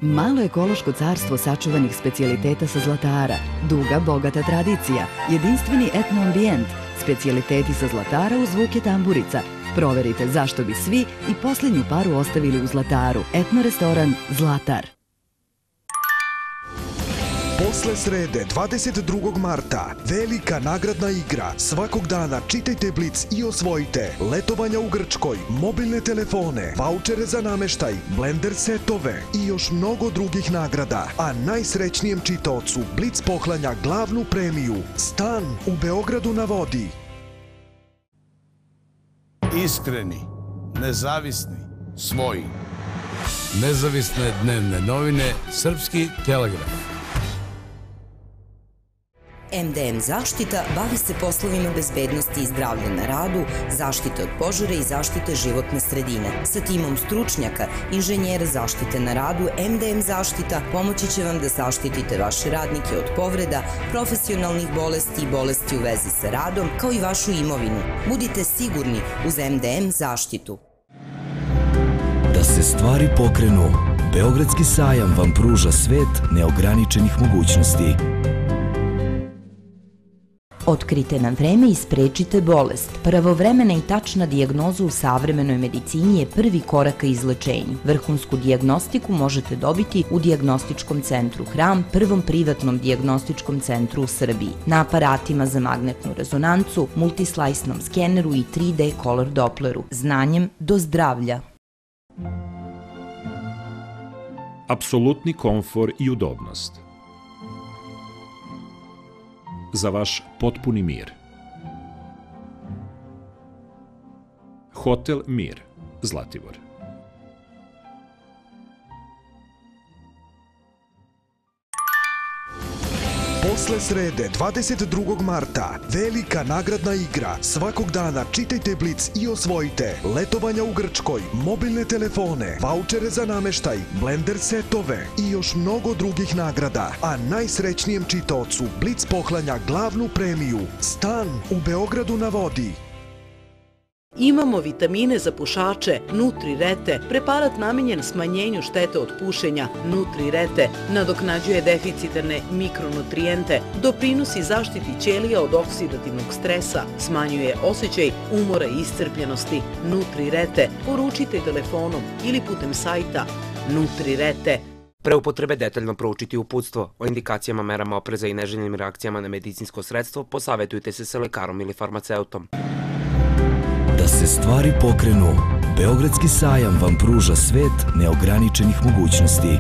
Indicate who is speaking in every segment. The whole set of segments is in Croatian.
Speaker 1: Malo ekološko carstvo sačuvanih specijaliteta sa Zlatara, duga, bogata tradicija, jedinstveni etno ambijent, specijaliteti sa Zlatara uz zvuke tamburica. Proverite zašto bi svi i posljednju paru ostavili u Zlataru. Etno restoran Zlatar.
Speaker 2: Posle srede, 22. marta, velika nagradna igra. Svakog dana čitajte Blic i osvojite letovanja u Grčkoj, mobilne telefone, vaučere za nameštaj, blender setove i još mnogo drugih nagrada. A najsrećnijem čitaocu Blic poklanja glavnu premiju, stan u Beogradu na vodi.
Speaker 3: Iskreni, nezavisni, svoji. Nezavisne dnevne novine, Srpski telegraf.
Speaker 4: MDM Zaštita bavi se poslovima bezbednosti i zdravlja na radu, zaštite od požara i zaštite životne sredine. Sa timom stručnjaka, inženjera zaštite na radu, MDM Zaštita pomoći će vam da zaštitite vaše radnike od povreda, profesionalnih bolesti i bolesti u vezi sa radom, kao i vašu imovinu. Budite sigurni uz MDM Zaštitu.
Speaker 5: Da se stvari pokrenu, Beogradski sajam vam pruža svet neograničenih mogućnosti.
Speaker 4: Otkrite na vreme i sprečite bolest. Pravovremena i tačna dijagnoza u savremenoj medicini je prvi korak ka izlečenju. Vrhunsku dijagnostiku možete dobiti u Dijagnostičkom centru Hram, prvom privatnom dijagnostičkom centru u Srbiji, na aparatima za magnetnu rezonancu, multislajsnom skeneru i 3D color doppleru. Znanjem do zdravlja.
Speaker 6: Apsolutni komfor i udobnost. Za vaš potpuni mir. Hotel Mir, Zlatibor.
Speaker 2: Posle srede, 22. marta, velika nagradna igra. Svakog dana čitajte Blic i osvojite letovanja u Grčkoj, mobilne telefone, vaučere za nameštaj, blender setove i još mnogo drugih nagrada. A najsrećnijem čitaocu Blic poklanja glavnu premiju, stan u Beogradu na vodi.
Speaker 7: Imamo vitamine za pušače Nutri-Rete, preparat namenjen smanjenju štete od pušenja. Nutri-Rete nadoknađuje deficitarne mikronutrijente, doprinosi zaštiti ćelija od oksidativnog stresa, smanjuje osjećaj umora i iscrpljenosti. Nutri-Rete poručite telefonom ili putem sajta Nutri-Rete.
Speaker 8: Pre upotrebe detaljno proučiti uputstvo. O indikacijama, merama opreza i neželjenim reakcijama na medicinsko sredstvo posavetujte se sa lekarom ili farmaceutom.
Speaker 5: Da se stvari pokrenu, Beogradski sajam vam pruža svet neograničenih mogućnosti.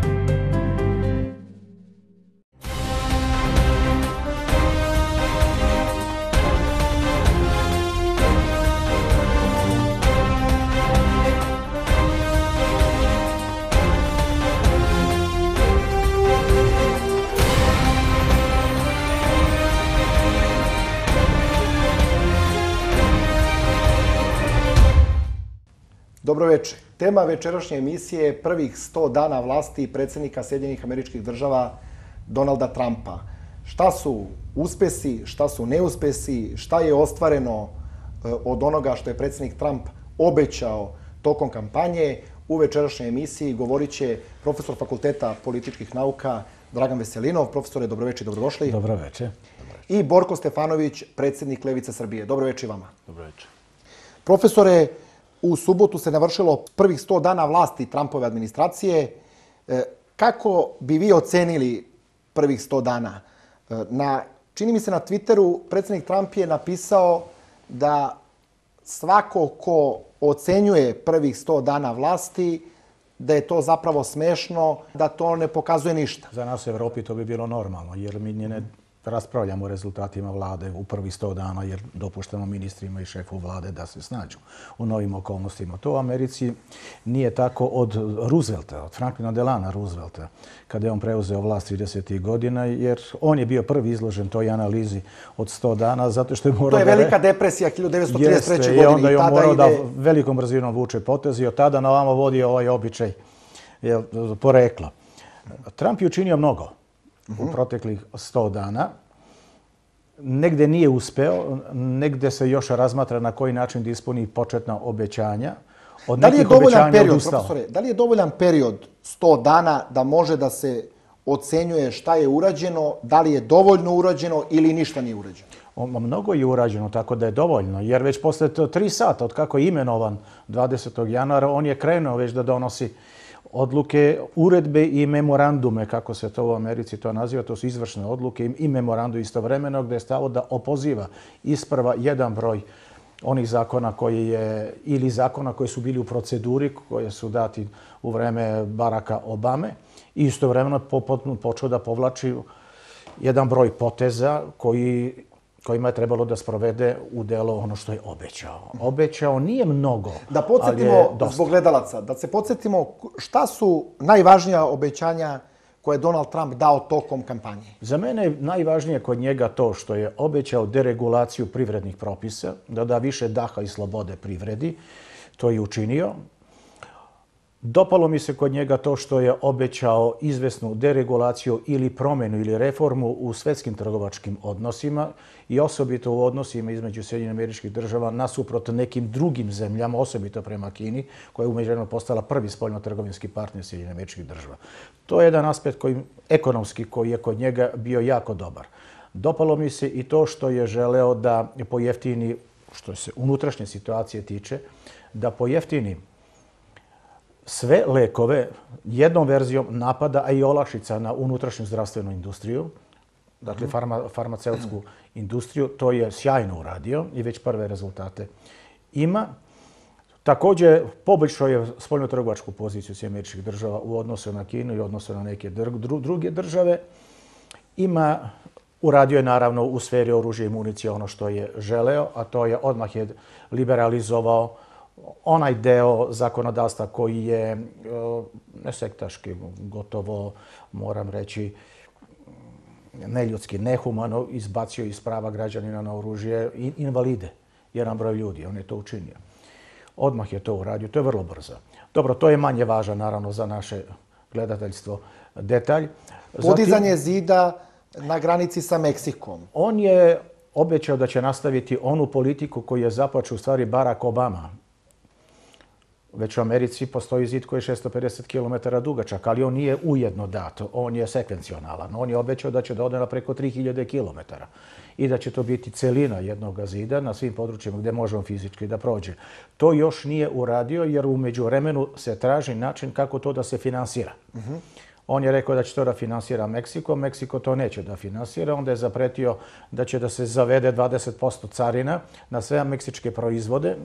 Speaker 9: Dobro večer. Tema večerašnje emisije je prvih 100 dana vlasti predsjednika Sjedinjenih Američkih Država Donalda Trumpa. Šta su uspesi, šta su neuspesi, šta je ostvareno od onoga što je predsjednik Trump obećao tokom kampanje. U večerašnjoj emisiji govorit će profesor Fakulteta političkih nauka Dragan Veselinov. Profesore, dobro večer, dobrodošli.
Speaker 10: Dobro večer.
Speaker 9: I Borko Stefanović, predsjednik Levice Srbije. Dobro večer vama.
Speaker 10: Dobro večer.
Speaker 9: Profesore, u subotu se navršilo prvih 100 dana vlasti Trumpove administracije. Kako bi vi ocenili prvih 100 dana? Čini mi se na Twitteru predsjednik Trump je napisao da svako ko ocenjuje prvih 100 dana vlasti, da je to zapravo smešno, da to ne pokazuje ništa.
Speaker 10: Za nas u Evropi to bi bilo normalno, jer mi ne raspravljamo o rezultatima vlade u prvih 100 dana, jer dopuštamo ministrima i šefu vlade da se snađu u novim okolnostima. To u Americi nije tako od Roosevelta, od Franklina Delana Roosevelta, kada je on preuzeo vlast 30. godina, jer on je bio prvi izložen toj analizi od 100 dana, zato što je morao...
Speaker 9: To je velika depresija 1933. godine.
Speaker 10: I onda je on morao da velikom brzinom vuče potez i od tada na ovamo vodi ovaj običaj porekla. Trump je učinio mnogo u proteklih 100 dana. Negde nije uspeo, negde se još razmatra na koji način da ispuni početna obećanja. od
Speaker 9: Da li je
Speaker 10: nekih
Speaker 9: dovoljan
Speaker 10: obećanja
Speaker 9: period,
Speaker 10: odustao.
Speaker 9: profesore, da li je dovoljan period 100 dana da može da se ocenjuje šta je urađeno, da li je dovoljno urađeno ili ništa nije urađeno?
Speaker 10: Mnogo je urađeno, tako da je dovoljno, jer već posle 3 sata od kako je imenovan 20. januara, on je krenuo već da donosi odluke, uredbe i memorandume, kako se to u Americi to naziva, to su izvršne odluke i memorandum istovremeno, gde je stalo da opoziva isprva jedan broj onih zakona ili zakona koji su bili u proceduri, koje su dati u vreme Baracka Obame, i istovremeno počeo da povlači jedan broj poteza kojima je trebalo da sprovede u delo ono što je obećao. Obećao nije mnogo,
Speaker 9: da podsjetimo, zbog gledalaca, da se podsjetimo šta su najvažnija obećanja koje je Donald Trump dao tokom kampanje.
Speaker 10: Za mene je najvažnije kod njega to što je obećao deregulaciju privrednih propisa, da da više daha i slobode privredi. To je učinio. Dopalo mi se kod njega to što je obećao izvesnu deregulaciju ili promjenu ili reformu u svetskim trgovačkim odnosima i osobito u odnosima između Sjedinjenih Američkih Država nasuprot nekim drugim zemljama, osobito prema Kini, koja je umeđuvremenu postala prvi spoljno-trgovinski partner Sjedinjenih Američkih Država. To je jedan aspekt ekonomski koji je kod njega bio jako dobar. Dopalo mi se i to što je želeo da pojeftini, što se unutrašnje situacije tiče, da pojeftini sve lekove jednom verzijom napada, a i olakšica na unutrašnju zdravstvenu industriju, dakle farmaceutsku industriju. To je sjajno uradio i već prve rezultate ima. Također poboljšao je spoljno-trgovačku poziciju Sjedinjenih Američkih Država u odnosu na Kinu i u odnosu na neke druge države. Uradio je naravno u sferi oružja i municije ono što je želeo, a to je odmah je liberalizovao onaj deo zakonodavstva koji je nesektaški, gotovo, moram reći, neljudski, nehumano izbacio iz prava građanina na oružje i invalide, jedan broj ljudi. On je to učinio. Odmah je to uradio. To je vrlo brzo. Dobro, to je manje važan, naravno, za naše gledateljstvo detalj.
Speaker 9: Podizanje zida na granici sa Meksikom.
Speaker 10: On je obećao da će nastaviti onu politiku koju je započeo u stvari Barack Obama. Već u Americi postoji zid koji je 650 km dugačak, ali on nije ujedno dat, on je sekvencionalan. On je obećao da će da ode na preko 3000 km i da će to biti celina jednog zida na svim područjima gdje možemo fizički da prođe. To još nije uradio jer u međuvremenu se traži način kako to da se finansira. On je rekao da će to da finansira Meksiko, Meksiko to neće da finansira, onda je zapretio da će da se zavede 20% carina na sve meksičke proizvode,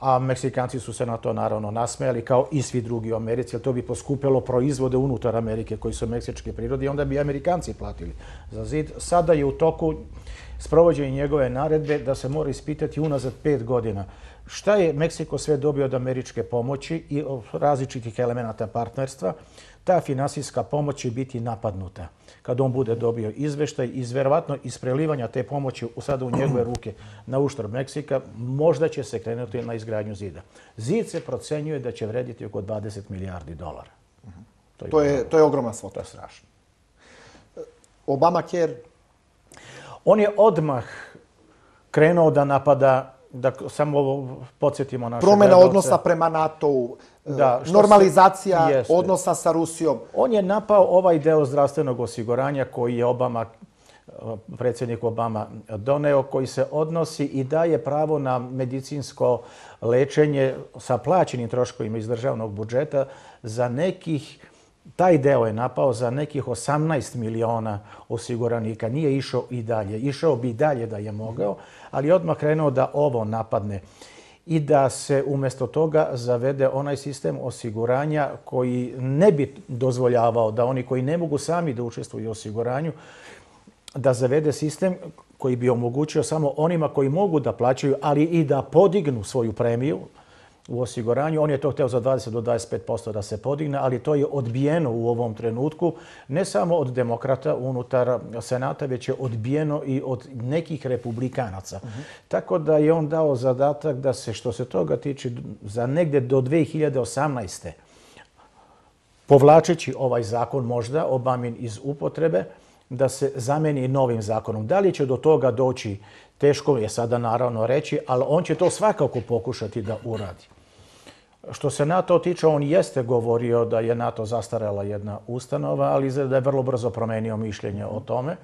Speaker 10: a Meksikanci su se na to naravno nasmejali kao i svi drugi u Americi, jer to bi poskupilo proizvode unutar Amerike koji su meksičke prirode i onda bi Amerikanci platili za zid. Sada je u toku sprovođenje njegove naredbe da se mora ispitati unazad 5 godina šta je Meksiko sve dobio od američke pomoći i od različitih elemenata partnerstva. Ta finansijska pomoć će biti napadnuta. Kad on bude dobio izveštaj, verovatno iz prelivanja te pomoći sada u njegove ruke na uštrb Meksika, možda će se krenuti na izgradnju zida. Zid se procenjuje da će vrediti oko $20 milijardi.
Speaker 9: To je ogromna svota.
Speaker 10: To je strašno.
Speaker 9: Obamacare?
Speaker 10: On je odmah krenuo da napada, da samo podsjetimo naše
Speaker 9: promjena
Speaker 10: gledalce.
Speaker 9: Odnosa prema NATO-u, normalizacija odnosa sa Rusijom.
Speaker 10: On je napao ovaj deo zdravstvenog osiguranja koji je predsjednik Obama doneo, koji se odnosi i daje pravo na medicinsko lečenje sa plaćenim troškovima iz državnog budžeta za taj deo je napao za nekih 18 miliona osiguranika. Nije išao i dalje. Išao bi i dalje da je mogao, ali je odmah krenuo da ovo napadne i da se umjesto toga zavede onaj sistem osiguranja koji ne bi dozvoljavao da oni koji ne mogu sami da učestvuju u osiguranju, da zavede sistem koji bi omogućio samo onima koji mogu da plaćaju, ali i da podignu svoju premiju u osiguranju. On je to hteo za 20 do 25% da se podigne, ali to je odbijeno u ovom trenutku, ne samo od demokrata unutar Senata, već je odbijeno i od nekih republikanaca. Tako da je on dao zadatak da se, što se toga tiče, za negde do 2018. povlačeći ovaj zakon možda, Obamin iz upotrebe, da se zameni novim zakonom. Da li će do toga doći, teško je sada naravno reći, ali on će to svakako pokušati da uradi. Što se NATO tiče, on jeste govorio da je NATO zastarela jedna ustanova, ali da je vrlo brzo promenio mišljenje o tome,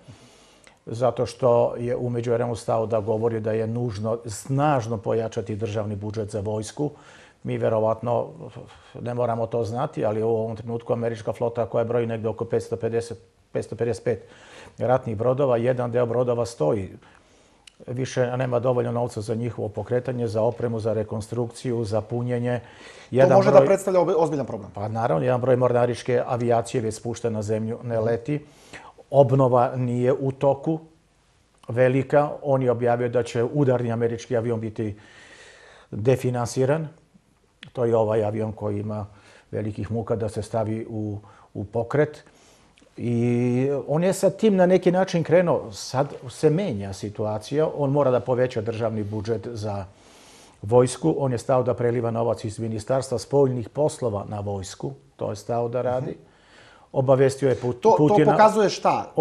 Speaker 10: zato što je u međuvremenu stao da govori da je nužno snažno pojačati državni budžet za vojsku. Mi verovatno ne moramo to znati, ali u ovom trenutku američka flota koja broji negde oko 555 ratnih brodova, jedan deo brodova stoji. Više nema dovoljno novca za njihovo pokretanje, za opremu, za rekonstrukciju, za punjenje.
Speaker 9: To može da predstavlja ozbiljan problem.
Speaker 10: Pa naravno, jedan broj mornaričke avijacije već spušten na zemlju, ne leti. Obnova nije u toku velika. On je objavio da će udarni američki avion biti definansiran. To je ovaj avion koji ima velikih muka da se stavi u pokret. I on je sa tim na neki način krenuo. Sad se menja situacija. On mora da poveća državni budžet za vojsku. On je stao da preliva novac iz Ministarstva spoljnih poslova na vojsku. To je stao da radi. Obavestio je Putina.
Speaker 9: To pokazuje šta?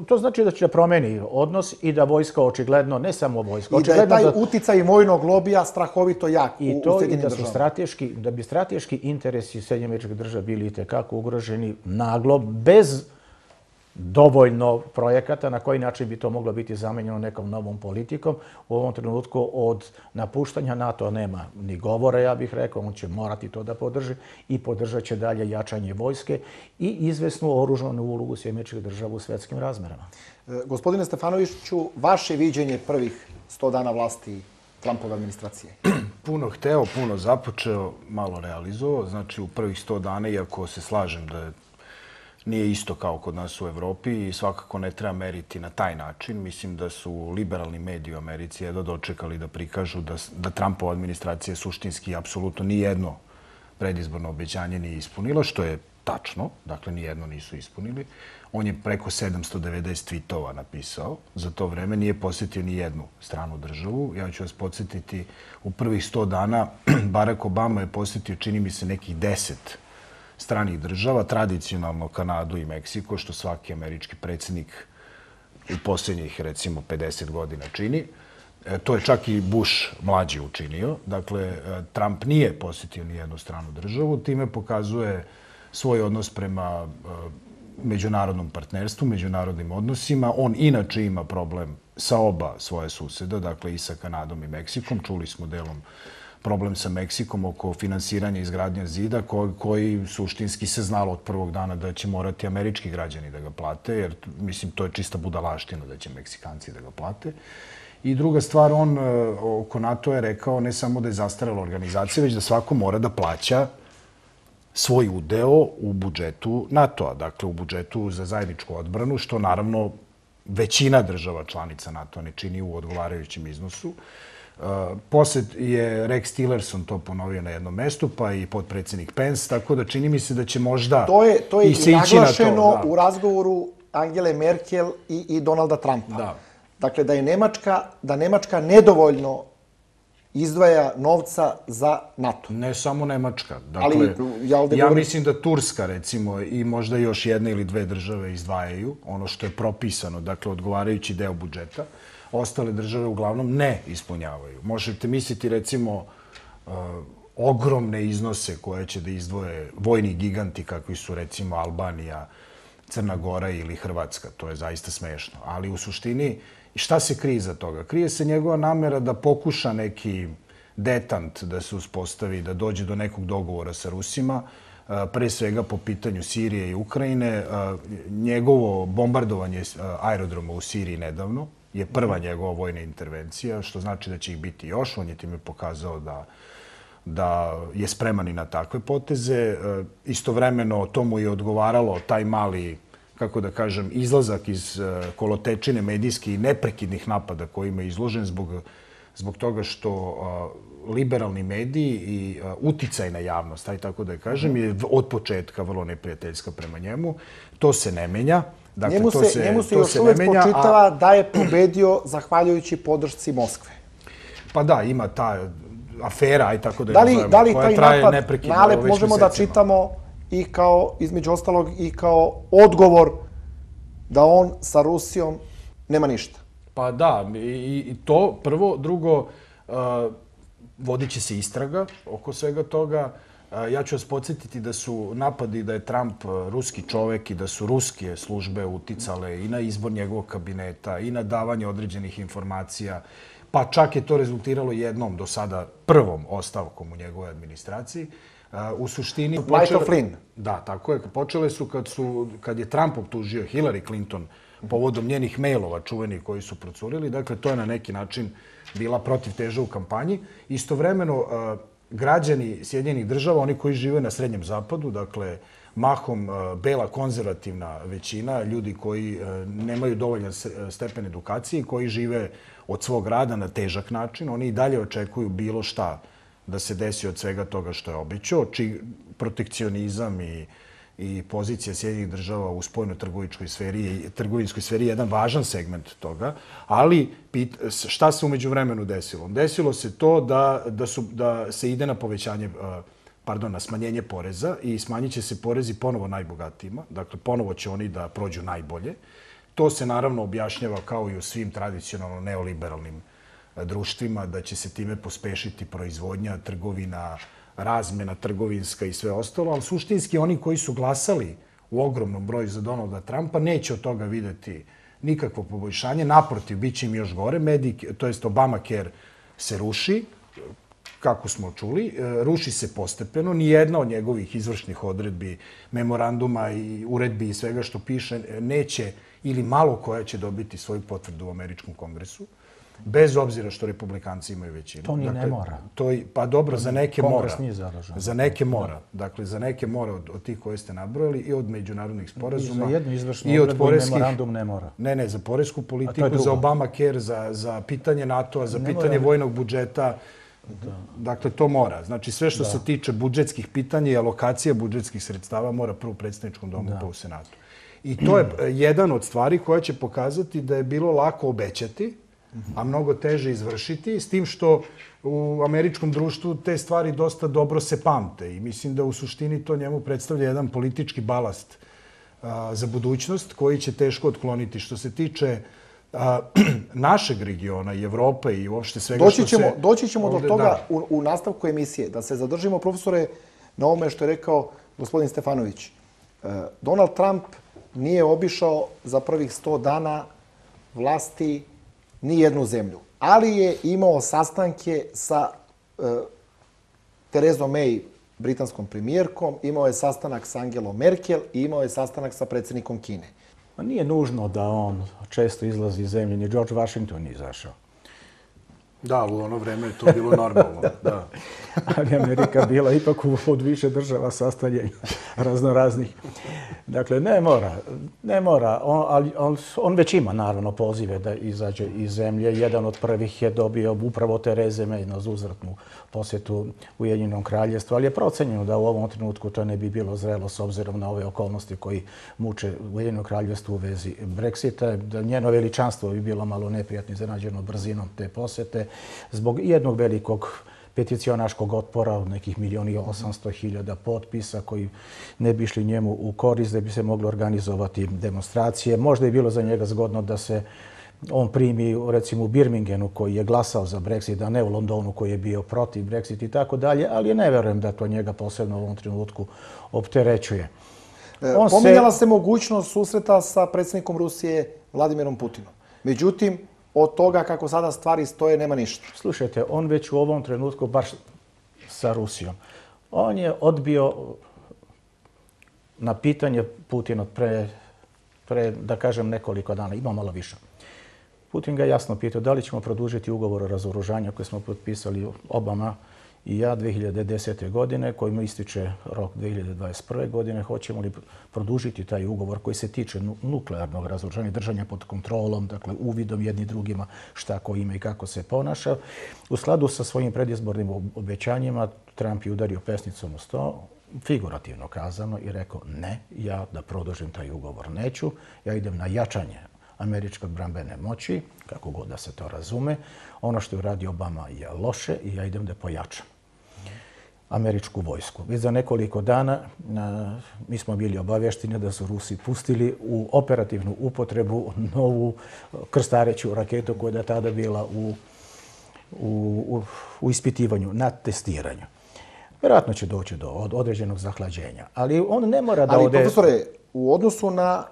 Speaker 10: To znači da će promeni odnos i da vojska očigledno, ne samo vojska.
Speaker 9: I da je taj uticaj vojnog lobija strahovito jak u Sjedinjenim državama.
Speaker 10: Da bi strateški interesi Sjedinjenih Američkih Država bili itekako ugroženi naglo, bez dovoljno projekata, na koji način bi to moglo biti zamenjeno nekom novom politikom. U ovom trenutku od napuštanja NATO nema ni govora, ja bih rekao, on će morati to da podrži i podržat će dalje jačanje vojske i izvesnu oružanu ulogu Sjedinjenih Američkih Država u svetskim razmerama.
Speaker 9: Gospodine Stefanoviću, vaše viđenje prvih 100 dana vlasti Trumpove administracije?
Speaker 3: Puno hteo, puno započeo, malo realizovao. Znači, u prvih 100 dana, iako se slažem da nije isto kao kod nas u Evropi i svakako ne treba meriti na taj način. Mislim da su liberalni mediji u Americi jedno dočekali da prikažu da Trumpova administracija suštinski apsolutno nijedno predizborno obećanje nije ispunila, što je tačno. Dakle, nijedno nisu ispunili. On je preko 790 tweetova napisao. Za to vreme nije posjetio ni jednu stranu državu. Ja ću vas podsjetiti, u prvih 100 dana Barack Obama je posjetio, čini mi se, nekih 10 stranih država, tradicionalno Kanadu i Meksiko, što svaki američki predsjednik u posljednjih, recimo, 50 godina čini. To je čak i Bush mlađi učinio. Dakle, Trump nije posjetio ni jednu stranu državu. Time pokazuje svoj odnos prema međunarodnom partnerstvu, međunarodnim odnosima. On inače ima problem sa oba svoje suseda, dakle i sa Kanadom i Meksikom. Čuli smo delom problem sa Meksikom oko finansiranja i izgradnja zida, koji suštinski se znalo od prvog dana da će morati američki građani da ga plate, jer, mislim, to je čista budalaština da će Meksikanci da ga plate. I druga stvar, on oko NATO je rekao ne samo da je zastarela organizacija, već da svako mora da plaća svoj udeo u budžetu NATO-a, dakle u budžetu za zajedničku odbranu, što naravno većina država članica NATO ne čini u odgovarajućem iznosu. Posled je Rex Tillerson to ponovio na jednom mestu, pa i potpredsjednik Pence, tako da čini mi se da će možda
Speaker 9: to je i naglašeno u razgovoru Angele Merkel i Donalda Trumpa.
Speaker 3: Da.
Speaker 9: Dakle, da Nemačka nedovoljno izdvaja novca za NATO.
Speaker 3: Ne samo Nemačka. Dakle, ja mislim da Turska, recimo, i možda još jedna ili dve države izdvajaju ono što je propisano, dakle, odgovarajući deo budžeta. Ostale države uglavnom ne ispunjavaju. Možete misliti, recimo, ogromne iznose koje će da izdvoje vojni giganti kakvi su, recimo, Albanija, Crna Gora ili Hrvatska. To je zaista smešno. Ali u suštini, šta se krije iza toga? Krije se njegova namera da pokuša neki detant da se uspostavi, da dođe do nekog dogovora sa Rusima, pre svega po pitanju Sirije i Ukrajine. Njegovo bombardovanje aerodroma u Siriji nedavno je prva njegova vojna intervencija, što znači da će ih biti još. On je time pokazao da je spreman i na takve poteze. Istovremeno tomu je odgovaralo taj mali, kako da kažem, izlazak iz kolotečine medijskih i neprekidnih napada kojima je izložen zbog toga što liberalni mediji i uticajna javnost, taj tako da je kažem, je od početka vrlo neprijateljska prema njemu. To se ne menja.
Speaker 9: Njemu se još uvijek spočitava da je pobedio zahvaljujući podršci Moskve.
Speaker 3: Pa da, ima ta afera, aj tako da je nazovemo, koja traje neprekidno već mesecima.
Speaker 9: Možemo da čitamo i kao, između ostalog, i kao odgovor da on sa Rusijom nema ništa.
Speaker 3: Pa da, i to prvo. Drugo, vodit će se istraga oko svega toga. Ja ću vas podsjetiti da su napadi da je Trump ruski čovek i da su ruske službe uticale i na izbor njegovog kabineta i na davanje određenih informacija, pa čak je to rezultiralo jednom do sada prvom ostavkom u njegovoj administraciji. U suštini...
Speaker 9: Michael Flynn.
Speaker 3: Da, tako je. Počele su kad je Trump optužio Hillary Clinton povodom njenih mailova čuvenih koji su procurili. Dakle, to je na neki način bila protivteža u kampanji. Istovremeno, građani Sjedinjenih država, oni koji žive na Srednjem zapadu, dakle, mahom bela konzervativna većina, ljudi koji nemaju dovoljan stepen edukacije i koji žive od svog rada na težak način, oni i dalje očekuju bilo šta da se desi od svega toga što je obećao. Protekcionizam i pozicija Sjedinjenih država u spoljno-trgovinskoj sferi je jedan važan segment toga. Ali šta se umeđu vremenu desilo? Desilo se to da se ide na na smanjenje poreza i smanjit će se porezi ponovo najbogatijima. Dakle, ponovo će oni da prođu najbolje. To se naravno objašnjava kao i u svim tradicionalno neoliberalnim društvima, da će se time pospešiti proizvodnja, trgovina, razmena trgovinska i sve ostalo, ali suštinski oni koji su glasali u ogromnom broju za Donalda Trumpa neće od toga videti nikakvo poboljšanje. Naprotiv, bit će im još gore. To jest Obamacare se ruši, kako smo čuli, ruši se postepeno. Nijedna od njegovih izvršnih odredbi, memoranduma i uredbi i svega što piše neće ili malo koja će dobiti svoju potvrdu u Američkom kongresu. Bez obzira što republikanci imaju većinu.
Speaker 10: To ni ne mora.
Speaker 3: Pa dobro, za neke mora.
Speaker 10: Kongres nije zadužen.
Speaker 3: Za neke mora. Dakle, za neke mora od tih koje ste nabrojali i od međunarodnih sporazuma.
Speaker 10: I za jednu izvršnu odredbu memorandum ne mora.
Speaker 3: Ne, za poresku politiku, za Obamacare, za pitanje NATO-a, za pitanje vojnog budžeta. Dakle, to mora. Znači, sve što se tiče budžetskih pitanja i alokacija budžetskih sredstava mora prvo u predsjedničkom domu pa u Senatu. I to je jedan od stvari koja će pokazati da je bilo lako obećati, a mnogo teže izvršiti, s tim što u američkom društvu te stvari dosta dobro se pamte. I mislim da u suštini to njemu predstavlja jedan politički balast za budućnost koji će teško otkloniti. Što se tiče našeg regiona i Evrope i uopšte svega što se...
Speaker 9: Doći ćemo do toga u nastavku emisije. Da se zadržimo, profesore, na ovome što je rekao gospodin Stefanović. Donald Trump nije obišao za prvih 100 dana vlasti ni jednu zemlju. Ali je imao sastanke sa Terezom May, britanskom premijerkom, imao je sastanak sa Angelom Merkel i imao je sastanak sa predsjednikom Kine.
Speaker 10: Nije nužno da on često izlazi iz zemlje, ni George Washington nije izašao.
Speaker 3: Da, u ono vreme je to bilo normalno. Da.
Speaker 10: Ali Amerika bila ipak od više država sastavljenja raznoraznih. Dakle, ne mora. On već ima, naravno, pozive da izađe iz zemlje. Jedan od prvih je dobio upravo Tereze May na uzvratnu posjetu Ujedinjenom kraljevstvu, ali je procenjeno da u ovom trenutku to ne bi bilo zrelo s obzirom na ove okolnosti koji muče Ujedinjeno kraljevstvo u vezi Brexita. Da njeno veličanstvo bi bilo malo neprijatno iznenađeno brzinom te posjete zbog jednog velikog peticionaškog otpora od nekih 1.800.000 potpisa koji ne bi išli njemu u korist, da bi se moglo organizovati demonstracije. Možda je bilo za njega zgodno da se on primi, recimo, u Birmingenu koji je glasao za Brexit, a ne u Londonu koji je bio protiv Brexit i tako dalje, ali ne verujem da to njega posebno u ovom trenutku opterećuje.
Speaker 9: Pominjala se mogućnost susreta sa predsjednikom Rusije Vladimirom Putinom. Međutim, od toga kako sada stvari stoje nema ništa.
Speaker 10: Slušajte, on već u ovom trenutku, baš sa Rusijom, on je odbio na pitanje Putin od pre, da kažem, nekoliko dana, ima malo više. Putin ga jasno pitao da li ćemo produžiti ugovor o razoružanju koji smo potpisali Obama i ja 2010. godine, kojim ističe rok 2021. godine. Hoćemo li produžiti taj ugovor koji se tiče nuklearnog razoružanja, držanja pod kontrolom, dakle uvidom jedni drugima šta ko ima i kako se ponaša. U skladu sa svojim predizbornim obećanjima Trump je udario pesnicom u sto, figurativno kazano, i rekao ne, ja da produžim taj ugovor neću, ja idem na jačanje američke odbrambene moći, kako god da se to razume. Ono što je uradio Obama je loše i ja idem da pojačam američku vojsku. Već za nekoliko dana mi smo bili obavješteni da su Rusi pustili u operativnu upotrebu novu krstareću raketu koja je tada bila u ispitivanju, na testiranju. Vjerojatno će doći do određenog zahlađenja, ali on ne mora da ode...
Speaker 9: Ali, profesore, u odnosu na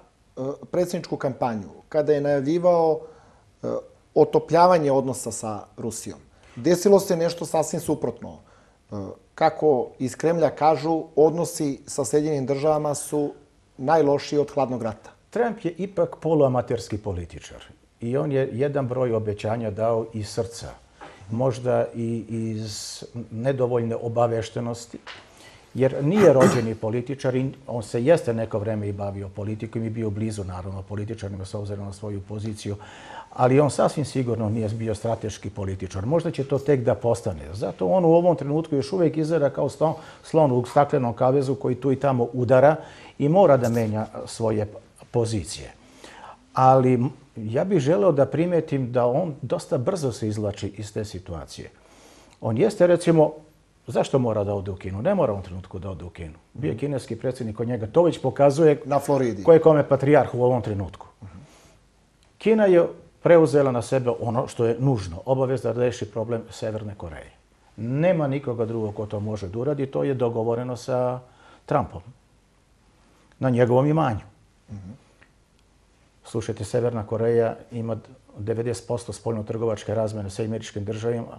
Speaker 9: predsjedničku kampanju, kada je najavljivao otopljavanje odnosa sa Rusijom, desilo se nešto sasvim suprotno. Kako iz Kremlja kažu, odnosi sa Sjedinjenim državama su najlošiji od hladnog rata.
Speaker 10: Trump je ipak poluamaterski političar i on je jedan broj obećanja dao iz srca. Možda i iz nedovoljne obaveštenosti, jer nije rođeni političar i on se jeste neko vreme i bavio politikom i bio blizu, naravno, političarima s obzirom na svoju poziciju, ali on sasvim sigurno nije bio strateški političar. Možda će to tek da postane. Zato on u ovom trenutku još uvijek izgleda kao slon u staklenom kavezu koji tu i tamo udara i mora da menja svoje pozicije. Ali ja bih želeo da primetim da on dosta brzo se izvlači iz te situacije. On jeste, recimo, zašto mora da ode u Kinu? Ne mora u ovom trenutku da ode u Kinu. Bio je kineski predsjednik od njega. To već pokazuje
Speaker 9: na Floridi
Speaker 10: ko je kome patrijarh u ovom trenutku. Kina je preuzela na sebe ono što je nužno. Obavez da reši problem Severne Koreje. Nema nikoga drugog ko to može da uradi. To je dogovoreno sa Trumpom. Na njegovom imanju. Slušajte, Severna Koreja ima 90% spoljno-trgovačke razmjene sa američkim državama,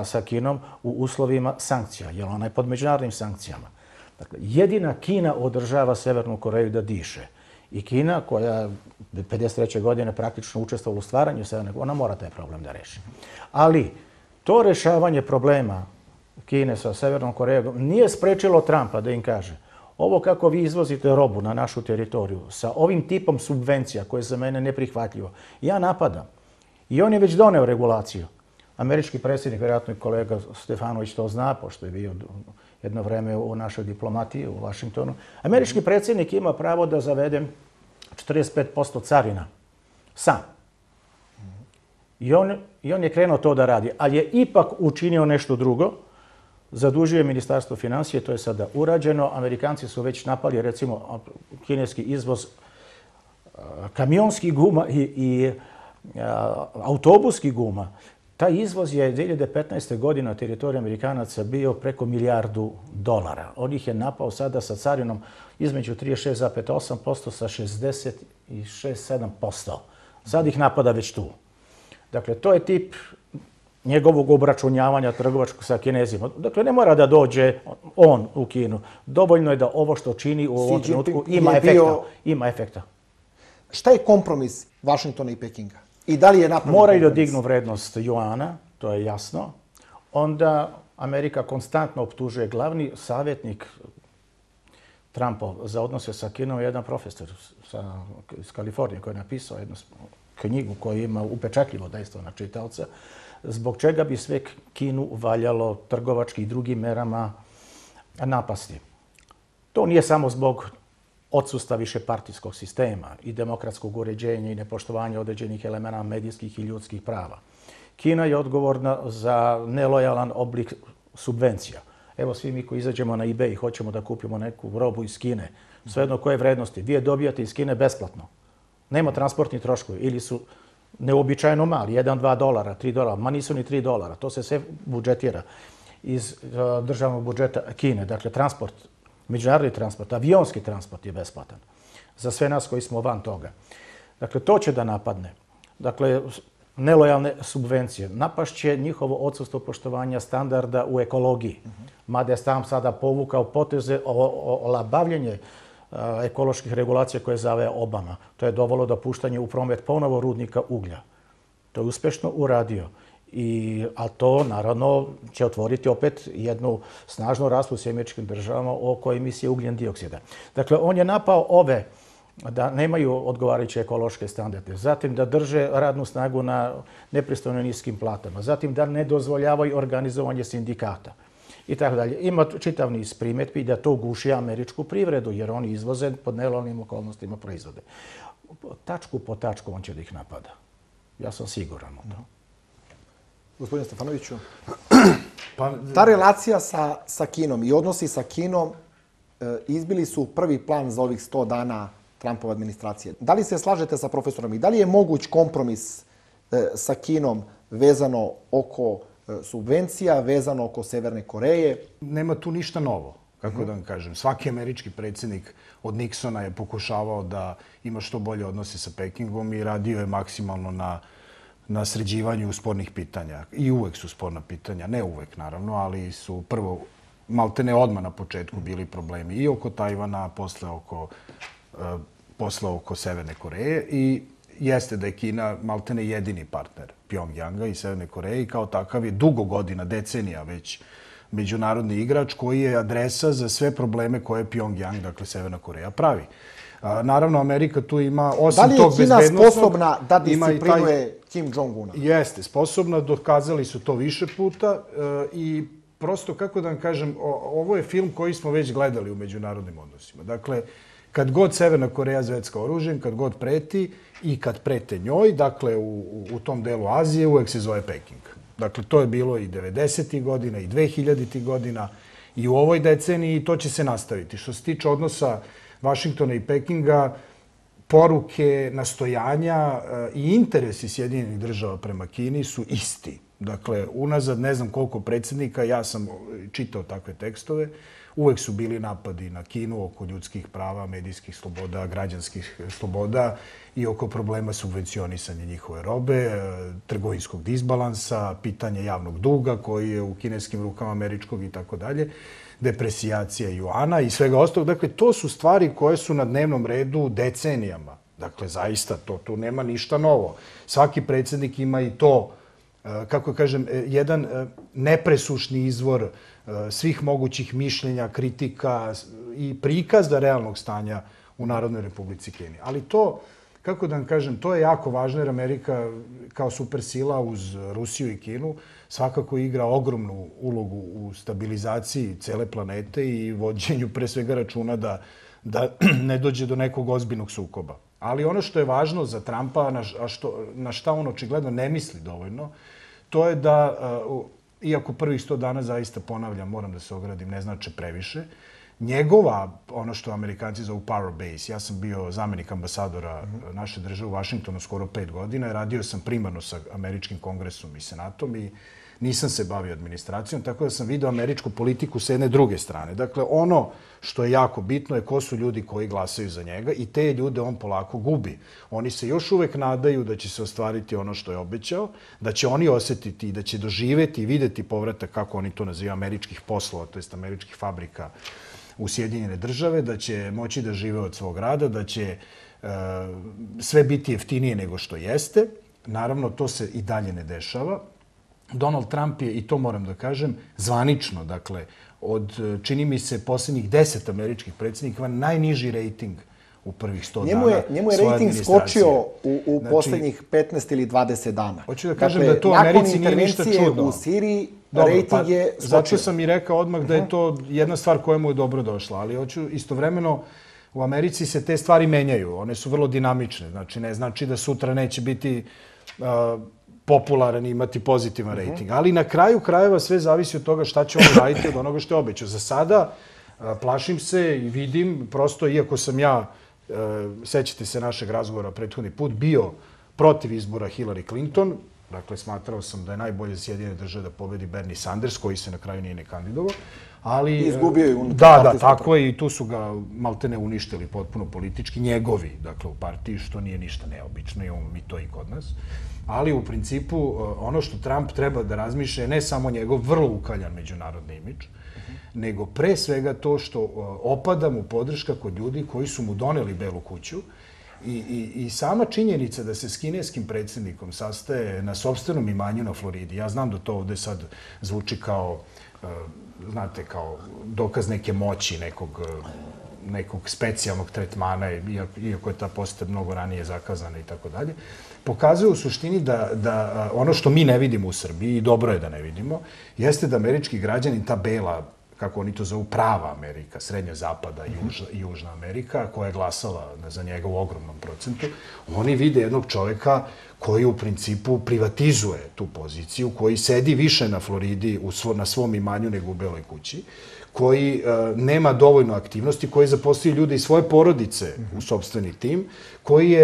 Speaker 10: sa Kinom u uslovima sankcija, jer ona je pod međunarodnim sankcijama. Dakle, jedina Kina održava Severnu Koreju da diše. I Kina, koja 53. godine praktično učestvovala u stvaranju Severne Koreje, ona mora taj problem da reši. Ali to rešavanje problema Kine sa Severnom Korejom nije sprečilo Trumpa da im kaže: ovo kako vi izvozite robu na našu teritoriju sa ovim tipom subvencija koje je za mene neprihvatljivo, ja napadam. I on je već doneo regulaciju. Američki predsjednik, vjerojatno i kolega Stefanović to zna, pošto je bio jedno vreme u našoj diplomatiji u Vašingtonu. Američki predsjednik ima pravo da zavede 45% carina. Sam. I on je krenuo to da radi, ali je ipak učinio nešto drugo. Zadužio je Ministarstvo financije, to je sada urađeno. Amerikanci su već napali, recimo, kineski izvoz kamionskih guma i autobuskih guma. Taj izvoz je 2015. godine na teritoriji Amerikanaca bio preko $1 milijardu. On ih je napao sada sa carinom između 36,8% sa 66,7%. Sad ih napada već tu. Dakle, to je tip njegovog obračunjavanja trgovačkog sa Kinezima. Dakle, ne mora da dođe on u Kinu. Dovoljno je da ovo što čini u ovom trenutku ima efekta.
Speaker 9: Šta je kompromis Vašingtona i Pekinga? I da li je napravljen kompromis?
Speaker 10: Moraju da dignu vrednost juana, to je jasno. Onda Amerika konstantno optužuje. Glavni savjetnik Trumpov za odnose sa Kinom je jedan profesor iz Kalifornije koji je napisao jednu knjigu koja ima upečatljivo dejstvo na čitaoca, zbog čega bi sve Kinu valjalo trgovački i drugim merama napasti. To nije samo zbog odsustva višepartijskog sistema i demokratskog uređenja i nepoštovanja određenih elementa medijskih i ljudskih prava. Kina je odgovorna za nelojalan oblik subvencija. Evo, svi mi koji izađemo na eBay i hoćemo da kupimo neku robu iz Kine, svejedno koje vrednosti, vi je dobijate iz Kine besplatno. Nema transportnih troškovi ili su neobičajno mali, $1, $2, $3, ma nisu ni $3. To se sve budžetira iz državnog budžeta Kine. Dakle, transport, međunarodni transport, avionski transport je besplatan za sve nas koji smo van toga. Dakle, to će da napadne. Dakle, nelojalne subvencije. Napašće njihovo odsustvo poštovanja standarda u ekologiji. Mada je sam sada povukao poteze olabavljenje ekoloških regulacija koje zove Obama. To je dovelo do puštanja u promet ponovo rudnika uglja. To je uspešno uradio. A to, naravno, će otvoriti opet jednu snažnu raspravu s američkim državama oko emisije ugljen dioksida. Dakle, on je napao ove da nemaju odgovarajuće ekološke standarde, zatim da drže radnu snagu na nepristojno niskim platama, zatim da ne dozvoljavaju organizovanje sindikata i tako dalje. Ima čitav niz primetbi da to guši američku privredu, jer oni izvoze pod nelojalnim okolnostima proizvode. Tačku po tačku on će da ih napada. Ja sam siguran u to.
Speaker 9: Gospodine Stefanoviću, ta relacija sa Kinom i odnosi sa Kinom izbili su prvi plan za ovih 100 dana Trumpove administracije. Da li se slažete sa profesorom i da li je moguć kompromis sa Kinom vezano oko subvencija, vezano oko Severne Koreje.
Speaker 3: Nema tu ništa novo, kako da vam kažem. Svaki američki predsjednik od Nixona je pokušavao da ima što bolje odnose sa Pekingom i radio je maksimalno na sređivanju spornih pitanja. I uvek su sporna pitanja, ne uvek naravno, ali su prvo, maltene odmah na početku bili problemi i oko Tajvana, posle oko Severne Koreje i jeste da je Kina maltene jedini partner Pjongjanga i Severne Koreje i kao takav je dugo godina, decenija već međunarodni igrač koji je adresa za sve probleme koje Pjongjang, dakle Severna Koreja, pravi. Naravno, Amerika tu ima, osim tog bezbednostnog...
Speaker 9: Da li je Kina sposobna da disciplinuje Kim Jong-una?
Speaker 3: Jeste, sposobna, dokazali su to više puta i prosto, kako da vam kažem, ovo je film koji smo već gledali u međunarodnim odnosima. Dakle, kad god Severna Koreja zvecka oružjem, kad god preti i kad prete njoj, dakle, u tom delu Azije uvek se zove Peking. Dakle, to je bilo i 90. godina i 2000. godina i u ovoj deceniji i to će se nastaviti. Što se tiče odnosa Vašingtona i Pekinga, poruke, nastojanja i interesi Sjedinjenih država prema Kini su isti. Dakle, unazad ne znam koliko predsjednika, ja sam čitao takve tekstove, uvek su bili napadi na Kinu oko ljudskih prava, medijskih sloboda, građanskih sloboda i oko problema subvencionisanja njihove robe, trgovinskog disbalansa, pitanje javnog duga koji je u kineskim rukama američkog i tako dalje, depresijacija juana i svega ostalog. Dakle, to su stvari koje su na dnevnom redu decenijama. Dakle, zaista, tu nema ništa novo. Svaki predsjednik ima i to, kako kažem, jedan nepresušni izvor svih mogućih mišljenja, kritika i prikazda realnog stanja u Narodnoj Republici Kini. Ali to, kako da vam kažem, to je jako važno jer Amerika kao supersila uz Rusiju i Kinu svakako igra ogromnu ulogu u stabilizaciji cele planete i vođenju pre svega računa da ne dođe do nekog ozbiljnog sukoba. Ali ono što je važno za Trumpa, na šta on očigledno ne misli dovoljno, to je da, iako prvih 100 dana, zaista ponavljam, moram da se ogradim, ne znači previše, njegova, ono što Amerikanci zovu power base, ja sam bio zamenik ambasadora naše države u Vašingtonu skoro 5 godina i radio sam primarno sa američkim kongresom i senatom i nisam se bavio administracijom, tako da sam vidio američku politiku s jedne druge strane. Dakle, ono što je jako bitno je ko su ljudi koji glasaju za njega i te ljude on polako gubi. Oni se još uvek nadaju da će se ostvariti ono što je obećao, da će oni osjetiti i da će doživeti i videti povratak, kako oni to nazivaju, američkih poslova, to jest američkih fabrika u Sjedinjene države, da će moći da žive od svog rada, da će sve biti jeftinije nego što jeste. Naravno, to se i dalje ne dešava. Donald Trump je, i to moram da kažem, zvanično, dakle, od, čini mi se, posljednjih 10 američkih predsjednika, najniži rejting u prvih 100 dana.
Speaker 9: Njemu je rejting skočio u posljednjih 15 ili 20 dana.
Speaker 3: Hoću da kažem da to u Americi nije ništa čudno.
Speaker 9: Nakon intervencije u Siriji, rejting je skočio.
Speaker 3: Zato sam i rekao odmah da je to jedna stvar koja mu je dobro došla, ali hoću istovremeno, u Americi se te stvari menjaju. One su vrlo dinamične. Znači, ne znači da sutra neće biti popularan i imati pozitivan rejting. Ali na kraju krajeva sve zavisi od toga šta će on raditi od onoga što je obećao. Za sada plašim se i vidim, prosto, iako sam ja, sećate se našeg razgovora prethodni put, bio protiv izbora Hillary Clinton, dakle, smatrao sam da je najbolje za Sjedinjene države da pobedi Bernie Sanders, koji se na kraju nije ne kandidovao. Ali
Speaker 9: izgubio je unutar
Speaker 3: partijsku. Da, tako je, i tu su ga maltene uništili potpuno politički, njegovi, dakle, u partiji, što nije ništa neobično, imamo mi to i kod nas. Ali u principu ono što Trump treba da razmišlja je ne samo njegov vrlo ukaljan međunarodni imidž, nego pre svega to što opada mu podrška kod ljudi koji su mu doneli Belu kuću i sama činjenica da se s kineskim predsjednikom sastaje na sopstvenom imanju na Floridi. Ja znam da to ovde sad zvuči kao, znate, kao dokaz neke moći, nekog specijalnog tretmana, iako je ta poseta mnogo ranije zakazana i tako dalje, pokazuje u suštini da ono što mi ne vidimo u Srbiji, i dobro je da ne vidimo, jeste da američki građani, ta bela, kako oni to zovu, prava Amerika, Srednja Zapada i Južna Amerika, koja je glasala za njega u ogromnom procentu, oni vide jednog čoveka koji u principu privatizuje tu poziciju, koji sedi više na Floridi na svom imanju nego u Beloj kući, koji nema dovoljno aktivnosti, koji zaposlio ljude iz svoje porodice u sopstveni tim, koji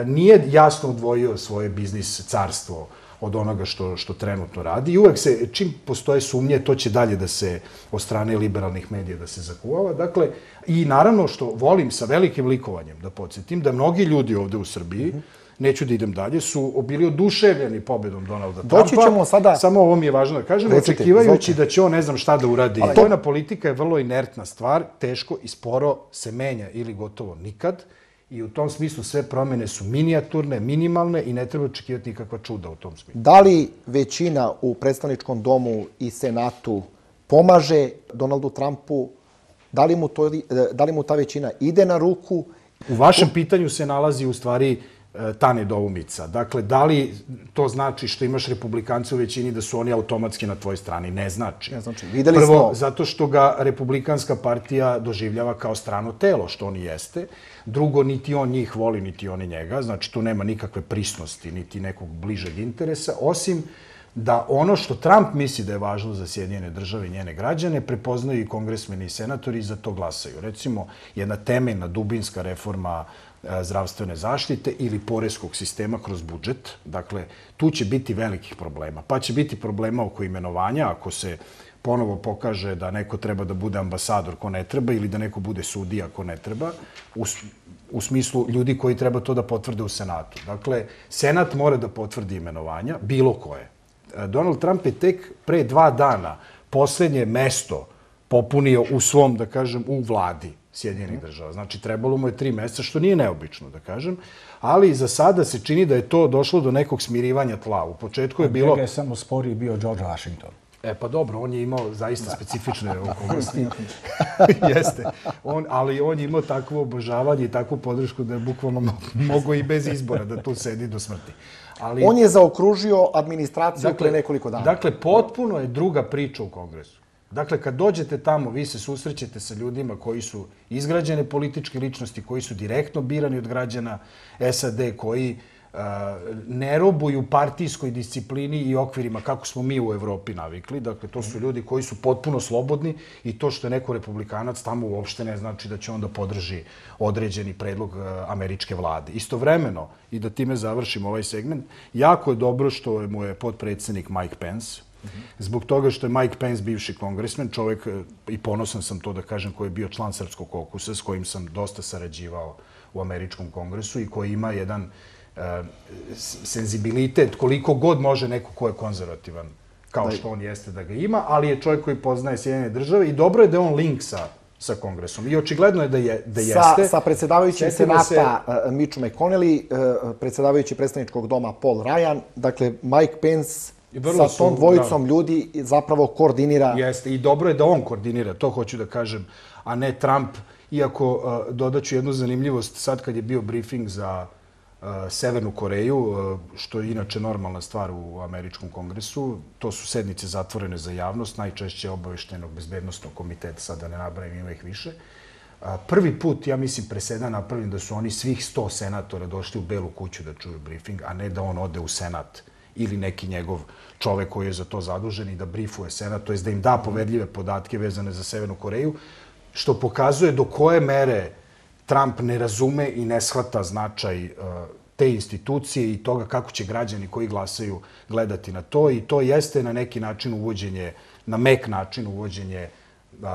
Speaker 3: nije jasno odvojio svoje biznis carstvo od onoga što trenutno radi. I uvek se, čim postoje sumnje, to će dalje da se, od strane liberalnih medija, da se zakuvava. Dakle, i naravno što volim sa velikim likovanjem da podsjetim, da mnogi ljudi ovde u Srbiji, neću da idem dalje, su bili oduševljeni pobedom Donalda Trumpa.
Speaker 9: Doći ćemo sada...
Speaker 3: Samo ovo mi je važno da kažem, očekivajući da će on ne znam šta da uradi. Vojna politika je vrlo inertna stvar, teško i sporo se menja ili gotovo nikad. I u tom smislu sve promjene su minijaturne, minimalne i ne treba očekivati nikakva čuda u tom smislu.
Speaker 9: Da li većina u predstavničkom domu i senatu pomaže Donaldu Trumpu? Da li mu ta većina ide na ruku?
Speaker 3: U vašem pitanju se nalazi u stvari ta nedoumica. Dakle, da li to znači što imaš republikance u većini da su oni automatski na tvojoj strani? Ne znači.
Speaker 9: Ne znači. Videli smo...
Speaker 3: Prvo, zato što ga republikanska partija doživljava kao strano telo, što on jeste. Drugo, niti on njih voli, niti oni njega. Znači, tu nema nikakve prisnosti, niti nekog bližeg interesa, osim da ono što Trump misli da je važno za Sjedinjene države i njene građane, prepoznaju i kongresmeni i senatori i za to glasaju. Recimo, jedna temeljna dubinska reforma zdravstvene zaštite ili poreskog sistema kroz budžet. Dakle, tu će biti velikih problema. Pa će biti problema oko imenovanja, ako se ponovo pokaže da neko treba da bude ambasador ko ne treba ili da neko bude sudija ko ne treba, u smislu ljudi koji treba to da potvrde u Senatu. Dakle, Senat mora da potvrdi imenovanja, bilo koje. Donald Trump je tek pre 2 dana poslednje mesto popunio u svom, da kažem, u vladi Sjedinjenih država. Znači, trebalo mu je 3 meseca, što nije neobično, da kažem, ali za sada se čini da je to došlo do nekog smirivanja tla. U početku je bilo...
Speaker 10: Njega je samo sporiji bio George Washington.
Speaker 3: Pa dobro, on je imao zaista specifične okolnosti. Jeste. Ali on je imao takvo obožavanje i takvu podršku da je bukvalno mogao i bez izbora da tu sedi do smrti.
Speaker 9: On je zaokružio administraciju pre nekoliko dana.
Speaker 3: Dakle, potpuno je druga priča u Kongresu. Dakle, kad dođete tamo, vi se susrećete sa ljudima koji su izgrađene političke ličnosti, koji su direktno birani od građana SAD, koji ne robuju partijskoj disciplini i okvirima kako smo mi u Evropi navikli. Dakle, to su ljudi koji su potpuno slobodni i to što je neko republikanac tamo uopšte ne znači da će onda podrži određeni predlog američke vlade. Istovremeno, i da time završim ovaj segment, jako je dobro što mu je potpredsjednik Mike Pence, zbog toga što je Mike Pence bivši kongresmen, čovjek, i ponosan sam to da kažem, koji je bio član Srpskog kokusa, s kojim sam dosta sarađivao u američkom kongresu i koji ima jedan senzibilitet koliko god može neko ko je konzervativan, kao što on jeste da ga ima, ali je čovjek koji poznaje Sjedinjene države i dobro je da je on link sa kongresom. I očigledno je da jeste.
Speaker 9: Sa predsjedavajućim senata Mitch McConnell, predsjedavajući predstavničkog doma Paul Ryan, dakle Mike Pence sa tom dvojicom ljudi zapravo koordinira.
Speaker 3: Jeste, i dobro je da on koordinira, to hoću da kažem, a ne Trump. Iako dodaću jednu zanimljivost, sad kad je bio briefing za Severnu Koreju, što je inače normalna stvar u američkom kongresu, to su sednice zatvorene za javnost, najčešće obaveštenog bezbednostnog komiteta, sad da ne nabrajim, ima ih više. Prvi put, ja mislim, presedan napravim da su oni svih 100 senatora došli u Belu kuću da čuju briefing, a ne da on ode u Senat ili neki njegov čovek koji je za to zadužen i da briefuje Senat, to je da im da poverljive podatke vezane za Severnu Koreju, što pokazuje do koje mere Trump ne razume i ne shvata značaj te institucije i toga kako će građani koji glasaju gledati na to. I to jeste na neki način uvođenje, na mek način uvođenje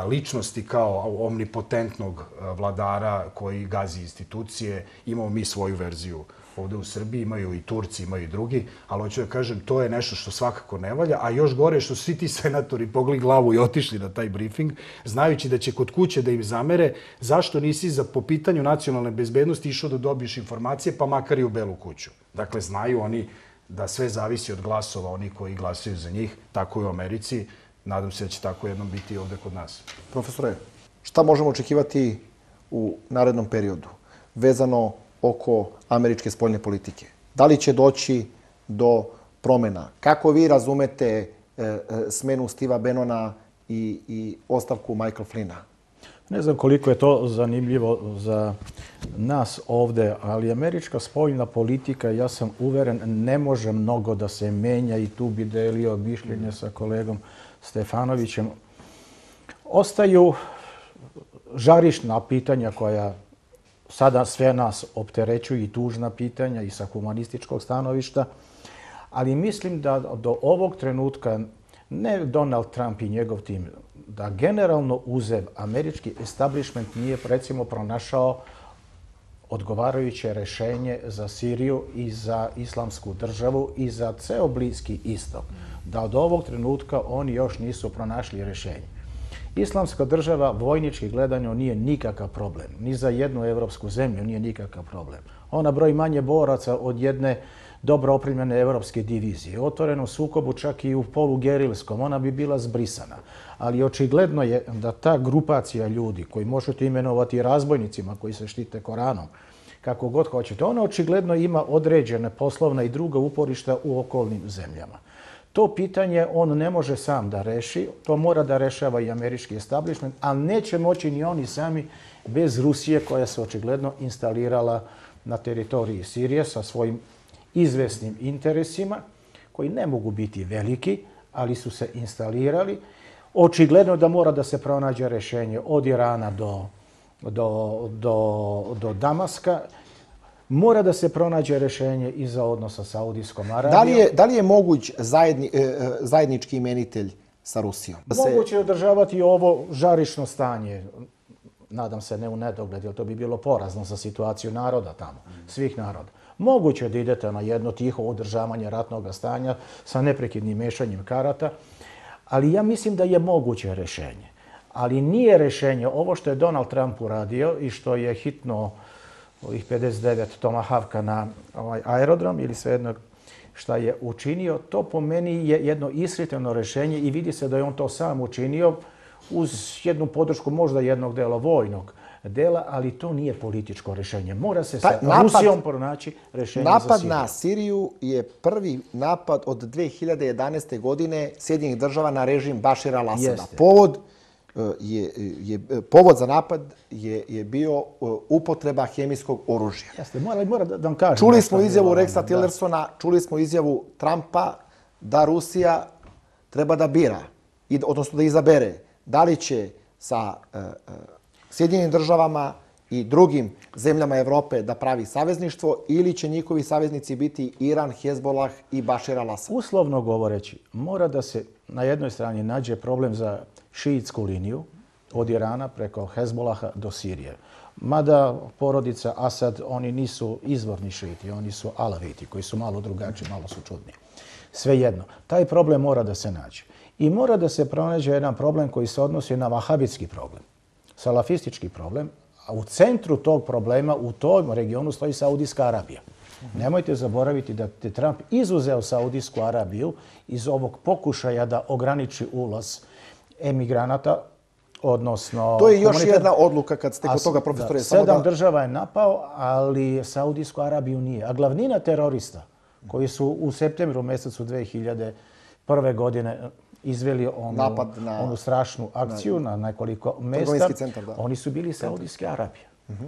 Speaker 3: ličnosti kao omnipotentnog vladara koji gazi institucije. Imamo mi svoju verziju ovde u Srbiji, imaju i Turci, imaju i drugi, ali hoću da kažem, to je nešto što svakako ne valja, a još gore što svi ti senatori pogli glavu i otišli na taj briefing, znajući da će kod kuće da im zamere zašto nisi po pitanju nacionalne bezbednosti išao da dobiješ informacije, pa makar i u Belu kuću. Dakle, znaju oni da sve zavisi od glasova, oni koji glasaju za njih, tako i u Americi. Nadam se da će tako jednom biti i ovde kod nas.
Speaker 9: Profesore, šta možemo očekivati u narednom periodu vezano oko američke spoljne politike? Da li će doći do promjena? Kako vi razumete smenu Steva Bannona i ostavku Michael Flynna?
Speaker 10: Ne znam koliko je to zanimljivo za nas ovde, ali američka spoljna politika, ja sam uveren, ne može mnogo da se menja i tu bi delio mišljenje sa kolegom Stefanovićem. Ostaju žarišna pitanja koja sada sve nas opterećuju i tužna pitanja i sa humanističkog stanovišta, Ali mislim da do ovog trenutka ne Donald Trump i njegov tim, da generalno uzev američki establishment nije recimo pronašao odgovarajuće rešenje za Siriju i za islamsku državu i za ceo Bliski istok. Da od ovog trenutka oni još nisu pronašli rešenje. Islamska država vojnički gledano nije nikakav problem. Ni za jednu evropsku zemlju nije nikakav problem. Ona broji manje boraca od jedne dobro opremljene evropske divizije. Otvoreno sukobu čak i u polugerilskom, ona bi bila zbrisana. Ali očigledno je da ta grupacija ljudi koji možete imenovati razbojnicima koji se štite Koranom, kako god hoćete, ona očigledno ima određene poslovna i druga uporišta u okolnim zemljama. To pitanje on ne može sam da reši, to mora da rešava i američki establishment, ali neće moći ni oni sami bez Rusije koja se očigledno instalirala na teritoriji Sirije sa svojim izvesnim interesima, koji ne mogu biti veliki, ali su se instalirali. Očigledno da mora da se pronađe rešenje od Irana do Damaska. Mora da se pronađe rešenje i za odnos sa Saudijskom Arabijom.
Speaker 9: Da li je moguć zajednički imenitelj sa Rusijom?
Speaker 10: Moguće je održavati ovo žarišno stanje. Nadam se ne u nedogled, jer to bi bilo porazno za situaciju naroda tamo, svih naroda. Moguće je da idete na jedno tiho održavanje ratnog stanja sa neprekidnim mešanjem karata, ali ja mislim da je moguće rešenje. Ali nije rešenje ovo što je Donald Trump uradio i što je hitno ovih 59 Tomahawka na aerodrom ili svejedno šta je učinio, to po meni je jedno ishitreno rešenje i vidi se da je on to sam učinio uz jednu podršku možda jednog dela vojnog dela, ali to nije političko rešenje. Mora se sa Rusijom pronaći rešenje za Siriju.
Speaker 9: Napad na Siriju je prvi napad od 2011. godine Sjedinjenih država na režim Bašira al-Asada. Povod za napad je bio upotreba hemijskog oružja.
Speaker 10: Jeste, mora da vam kažem.
Speaker 9: Čuli smo izjavu Rexa Tillersona, čuli smo izjavu Trumpa da Rusija treba da bira, odnosno da izabere da li će sa Sjedinjenim državama i drugim zemljama Evrope da pravi savezništvo ili će njihovi saveznici biti Iran, Hezbollah i Bašir al-Asad.
Speaker 10: Uslovno govoreći, mora da se na jednoj strani nađe problem za šiitsku liniju od Irana preko Hezbollaha do Sirije. Mada porodica Asad, oni nisu izvorni šiiti, oni su alaviti koji su malo drugačiji, malo su čudni. Svejedno, taj problem mora da se nađe. I mora da se pronađe jedan problem koji se odnosi na vahabitski problem, salafistički problem, a u centru tog problema u tom regionu stoji Saudijska Arabija. Nemojte zaboraviti da je Trump izuzeo Saudijsku Arabiju iz ovog pokušaja da ograniči ulaz emigranata, odnosno...
Speaker 9: To je još jedna odluka kad ste kod toga, profesore.
Speaker 10: 7 država je napao, ali Saudijsku Arabiju nije. A glavnina terorista koji su u septembru mjesecu 2001. godine izveli onu strašnu akciju na nekoliko mjesta, oni su bili Saudijske Arabije.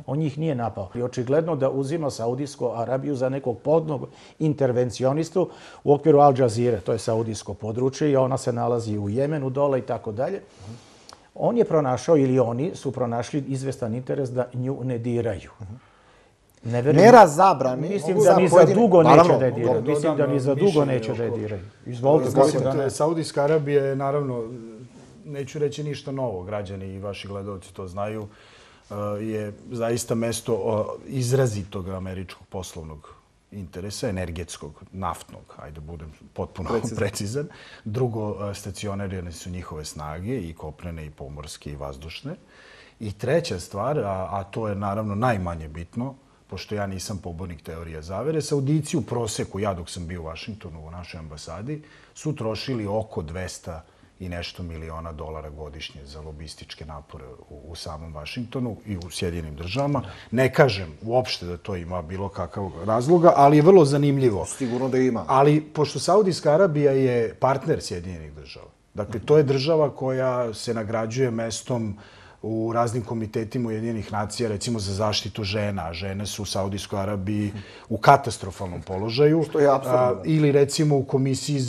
Speaker 10: On njih nije napao. I očigledno da uzima Saudijsku Arabiju za nekog podnog intervencionistu u okviru Al Jazeera, to je saudijsko područje i ona se nalazi u Jemenu dole i tako dalje. On je pronašao ili oni su pronašli izvestan interes da nju ne diraju.
Speaker 9: Mera zabrane.
Speaker 10: Mislim da ni za dugo neće da je diraju. Mislim da ni za dugo neće da je diraju.
Speaker 3: Izvolite. Saudijska Arabija je naravno, neću reći ništa novo, građani i vaši gledalci to znaju, je zaista mesto izrazitog američkog poslovnog interesa, energetskog, naftnog, ajde budem potpuno precizan. Drugo, stacionirane su njihove snage i kopnene i pomorske i vazdušne. I treća stvar, a to je naravno najmanje bitno, pošto ja nisam pobornik teorije zavere, Saudici u proseku, ja dok sam bio u Vašingtonu u našoj ambasadi, su trošili oko 200 i nešto miliona dolara godišnje za lobističke napore u samom Vašingtonu i u Sjedinim državama. Ne kažem uopšte da to ima bilo kakav razloga, ali je vrlo zanimljivo.
Speaker 9: Sigurno da ima.
Speaker 3: Ali pošto Saudijska Arabija je partner Sjedinih država, dakle to je država koja se nagrađuje mestom u raznim komitetima Ujedinjenih nacija, recimo za zaštitu žena. Žene su u Saudijskoj Arabiji u katastrofalnom položaju.
Speaker 9: Što je apsurdno.
Speaker 3: Ili recimo u Komisiji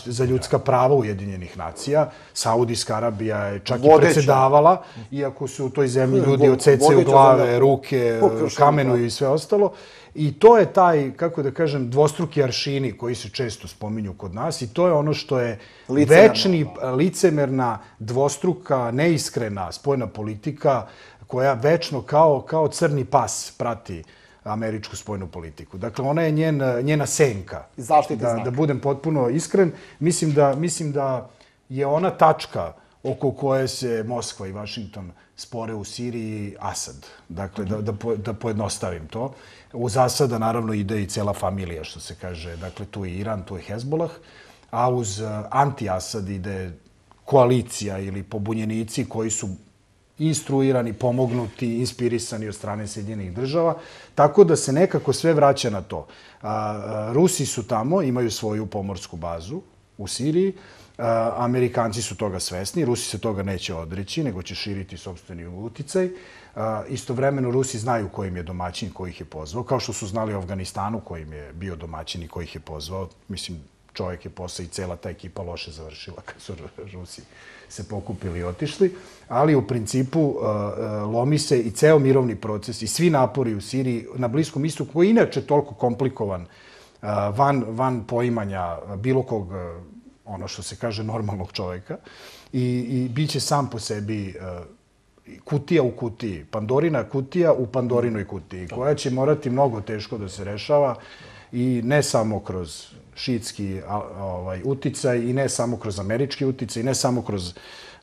Speaker 3: za ljudska prava Ujedinjenih nacija. Saudijska Arabija je čak i predsedavala, iako su u toj zemlji ljudi odsecaju glave, ruke, kamenuju i sve ostalo. I to je taj, kako da kažem, dvostruki aršini koji se često spominju kod nas i to je ono što je večni, licemerna, dvostruka, neiskrena spoljna politika koja večno kao crni pas prati američku spoljnu politiku. Dakle, ona je njena senka. Da budem potpuno iskren, mislim da je ona tačka oko koje se Moskva i Vašington spore u Siriji Asad. Dakle, da pojednostavim to. Uz Asada, naravno, ide i cela familija, što se kaže. Dakle, tu je Iran, tu je Hezbolah, a uz anti-Asad ide koalicija ili pobunjenici koji su instruirani, pomognuti, inspirisani od strane Sjedinjenih država. Tako da se nekako sve vraća na to. Rusi su tamo, imaju svoju pomorsku bazu u Siriji. Amerikanci su toga svesni, Rusi se toga neće odreći, nego će širiti sopstveni uticaj. Istovremeno Rusi znaju ko im je domaćin, ko ih je pozvao, kao što su znali u Afganistanu ko im je bio domaćin i ko ih je pozvao. Mislim, čovjek je posle i cela ta ekipa loše završila kad su Rusi se pokupili i otišli. Ali u principu lomi se i ceo mirovni proces i svi napori u Siriji na Bliskom istoku, koji je inače toliko komplikovan, van poimanja bilo kog, ono što se kaže, normalnog čovjeka, i bit će sam po sebi kutija u kutiji, Pandorina kutija u Pandorinoj kutiji, koja će morati mnogo teško da se rešava i ne samo kroz šiitski uticaj i ne samo kroz američki uticaj i ne samo kroz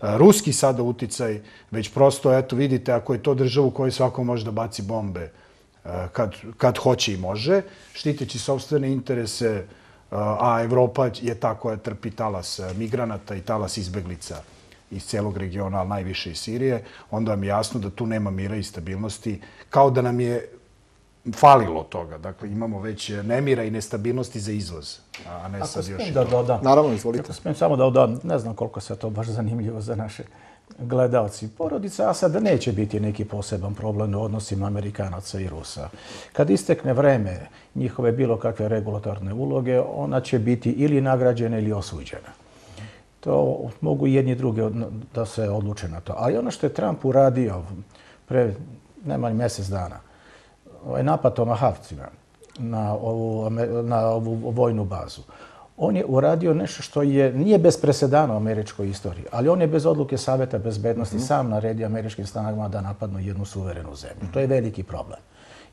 Speaker 3: ruski sada uticaj, već prosto, eto, vidite, ako je to država u kojoj svako može da baci bombe kad hoće i može, štiteći sopstvene interese, a Evropa je ta koja trpi talas migranata i talas izbeglica iz celog regiona, ali najviše iz Sirije, onda vam je jasno da tu nema mira i stabilnosti, kao da nam je falilo toga. Dakle, imamo već nemira i nestabilnosti za izvoz, a ne sad još i to.
Speaker 9: Naravno, izvolite.
Speaker 10: Ako smijem samo da dodam, ne znam koliko se to baš zanimljivo za naše gledalci. Porodica Asada neće biti neki poseban problem u odnosima Amerikanaca i Rusa. Kad istekne vreme njihove bilo kakve regulatorne uloge, ona će biti ili nagrađena ili osuđena. To mogu i jedni drugi da se odluče na to. Ali ono što je Trump uradio pre najmanje mjesec dana, ovaj napad Tomahawkima na ovu vojnu bazu, on je uradio nešto što nije bez presedana u američkoj istoriji, ali on je bez odluke Saveta bezbednosti sam naredio američkim snagama da napadnu jednu suverenu zemlju. To je veliki problem.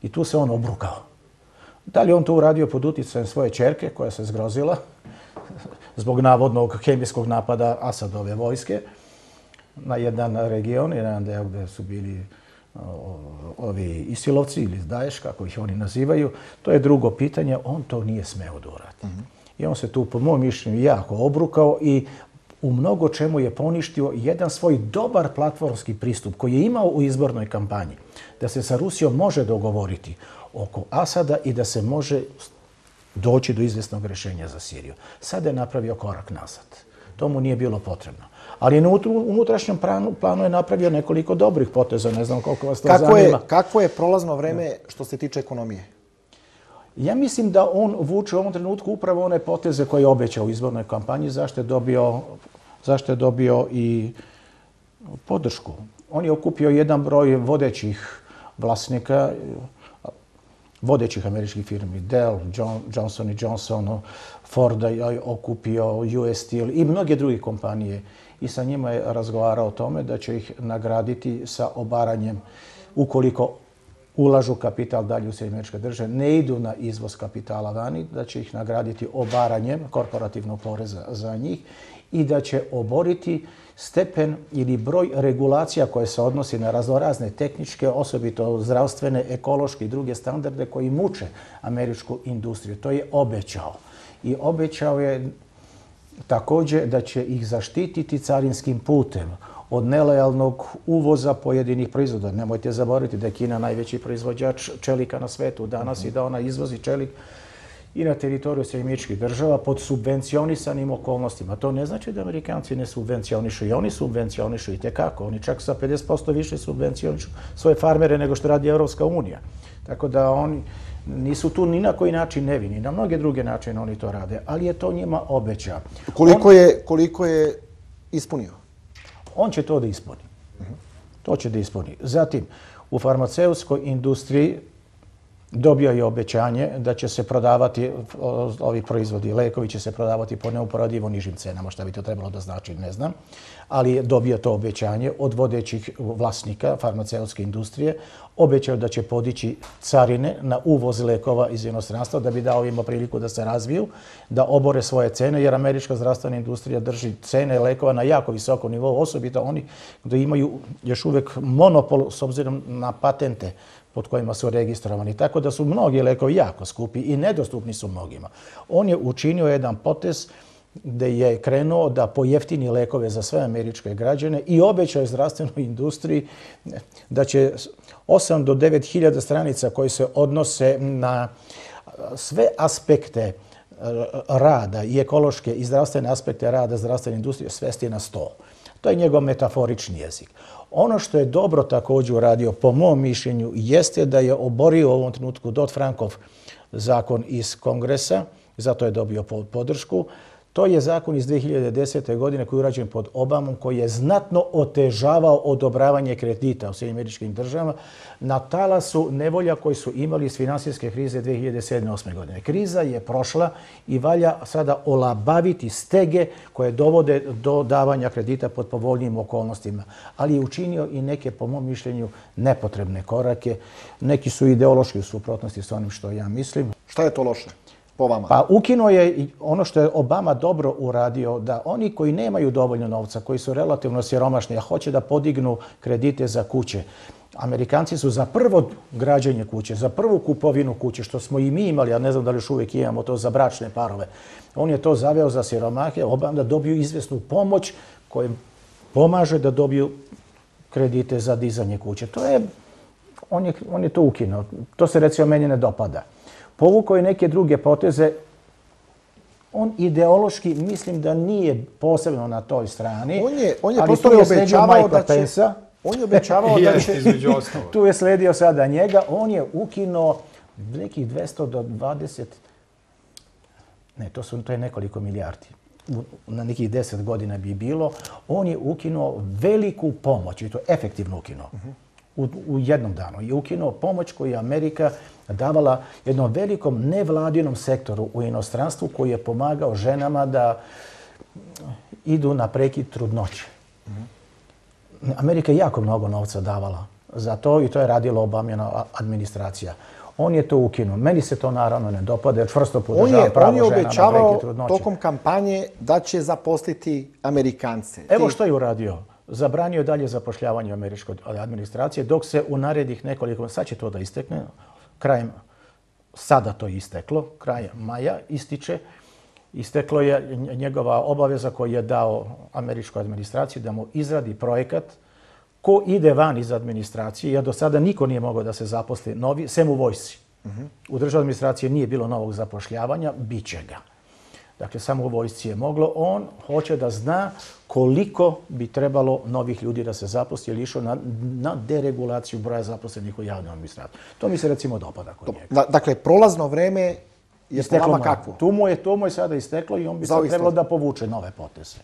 Speaker 10: I tu se on obrukao. Da li on to uradio pod uticajem svoje ćerke, koja se zgrozila zbog navodnog hemijskog napada Asadove vojske na jedan region, jedan deo gde su bili ovi Isilovci ili Daesh, kako ih oni nazivaju, to je drugo pitanje. On to nije smeo da uradi. I on se tu, po mojom mišljenju, jako obrukao i u mnogo čemu je poništio jedan svoj dobar platformski pristup koji je imao u izbornoj kampanji, da se sa Rusijom može dogovoriti oko Asada i da se može doći do izvjesnog rješenja za Siriju. Sada je napravio korak nazad. To mu nije bilo potrebno. Ali na unutrašnjem planu je napravio nekoliko dobrih poteza. Ne znam koliko vas to zanima.
Speaker 9: Kako je prolazno vreme što se tiče ekonomije?
Speaker 10: Ja mislim da on vuče u ovom trenutku upravo one poteze koje je obećao u izbornoj kampanji, zašto je dobio i podršku. On je okupio jedan broj vodećih vlasnika, vodećih američkih firmi, Dell, Johnson & Johnson, Ford je okupio, US Steel i mnoge druge kompanije. I sa njima je razgovarao o tome da će ih nagraditi sa obaranjem, ukoliko ulažu kapital dalje u Sjedinjene Američke Države, ne idu na izvoz kapitala vani, da će ih nagraditi obaranjem korporativnog poreza za njih i da će oboriti stepen ili broj regulacija koje se odnosi na raznorazne tehničke, osobito zdravstvene, ekološke i druge standarde koji muče američku industriju. To je obećao. I obećao je također da će ih zaštititi carinskim putem od nelojalnog uvoza pojedinih proizvoda. Nemojte zaboraviti da je Kina najveći proizvođač čelika na svetu danas i da ona izvozi čelik i na teritoriju Sjedinjenih Država pod subvencionisanim okolnostima. To ne znači da Amerikanci ne subvencionišu. I oni subvencionišu i tekako. Oni čak sa 50% više subvencionišu svoje farmere nego što radi Evropska unija. Tako da oni nisu tu ni na koji način nevini. Na mnoge druge načine oni to rade, ali je to njima obeća.
Speaker 9: Koliko je ispunio?
Speaker 10: On će to da ispuni. To će da ispuni. Zatim, u farmaceutskoj industriji dobio je obećanje da će se prodavati, ovi proizvodi, lekovi će se prodavati po neuporadivo nižim cenama, šta bi to trebalo da znači, ne znam, ali je dobio to obećanje od vodećih vlasnika farmaceutske industrije, obećao da će podići carine na uvoz lekova iz inostranstva da bi dao im priliku da se razviju, da obore svoje cene, jer američka zdravstvena industrija drži cene lekova na jako visokom nivou, osobito oni gdje imaju još uvijek monopol s obzirom na patente pod kojima su registrovani. Tako da su mnogi lekovi jako skupi i nedostupni su mnogima. On je učinio jedan potez gdje je krenuo da pojeftini lekove za sve američke građane i obećao zdravstvenoj industriji da će 8 do 9 hiljada stranica koji se odnose na sve aspekte rada i ekološke i zdravstvene aspekte rada zdravstvene industrije svesti na 100. To je njegov metaforični jezik. Ono što je dobro također uradio, po mom mišljenju, jeste da je oborio u ovom trenutku Dodd-Frankov zakon iz Kongresa, zato je dobio podršku. To je zakon iz 2010. godine koji je urađen pod Obamom, koji je znatno otežavao odobravanje kredita u Sjedinjenim Državama na talasu nevolja koji su imali iz finansijske krize 2007-2008. godine. Kriza je prošla i valja sada olabaviti stege koje dovode do davanja kredita pod povoljnijim okolnostima. Ali je učinio i neke, po mom mišljenju, nepotrebne korake. Neki su ideološki u suprotnosti s onim što ja mislim.
Speaker 9: Šta je to loše?
Speaker 10: Pa ukinuo je ono što je Obama dobro uradio, da oni koji nemaju dovoljno novca, koji su relativno siromašni, a hoće da podignu kredite za kuće, Amerikanci su za prvo građenje kuće, za prvu kupovinu kuće, što smo i mi imali, a ne znam da li još uvijek imamo to za bračne parove, on je to zaveo za siromahe, da dobiju izvjesnu pomoć koja pomaže da dobiju kredite za dizanje kuće. On je to ukinuo. To se recimo meni ne dopada. Povukao je neke druge poteze. On ideološki mislim da nije posebno na toj strani.
Speaker 9: On je prosto obećavao da će... On je obećavao da će...
Speaker 10: Tu je sledio sada njega. On je ukinuo nekih 200 do 20... Ne, to je nekoliko milijardi. Na nekih 10 godina bi bilo. On je ukinuo veliku pomoć i to efektivno ukinuo. U jednom danu je ukinuo pomoć koju je Amerika davala jednom velikom nevladinom sektoru u inostranstvu koji je pomagao ženama da idu na prekid trudnoće. Amerika je jako mnogo novca davala za to i to je radila Obamina administracija. On je to ukinuo. Meni se to naravno ne dopada jer čvrsto podržava pravo žena na prekid trudnoće.
Speaker 9: On je obećavao tokom kampanje da će zaposliti Amerikance.
Speaker 10: Evo što je uradio. Zabranio dalje zapošljavanje američke administracije, dok se u narednih nekoliko, sad će to da istekne, sada to je isteklo, krajem maja ističe, isteklo je njegova obaveza koju je dao američkoj administraciji da mu izradi projekat ko ide van iz administracije, jer do sada niko nije mogao da se zaposli novi, sem u vojsci. U državnoj administraciji nije bilo novog zapošljavanja, bit će ga. Dakle, samo u vojsci je moglo. On hoće da zna koliko bi trebalo novih ljudi da se zaposli ili išao na deregulaciju broja zaposlenih u javnoj administraciji. To mi se recimo dopada kod njega.
Speaker 9: Dakle, prolazno vreme je po vama kakvo?
Speaker 10: To mu je sada isteklo i on bi sad trebalo da povuče nove poteze.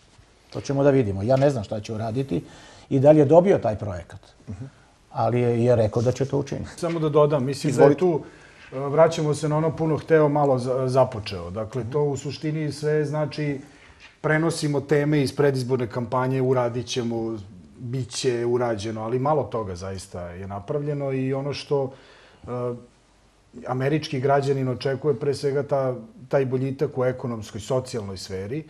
Speaker 10: To ćemo da vidimo. Ja ne znam šta će uraditi i da li je dobio taj projekat. Ali je rekao da će to učiniti.
Speaker 3: Samo da dodam, mislim da je tu... Vraćamo se na ono puno hteo, malo započeo. Dakle, to u suštini sve znači prenosimo teme iz predizborne kampanje, uradit ćemo, bit će urađeno, ali malo toga zaista je napravljeno i ono što američki građanin očekuje pre svega taj boljitak u ekonomskoj, socijalnoj sferi.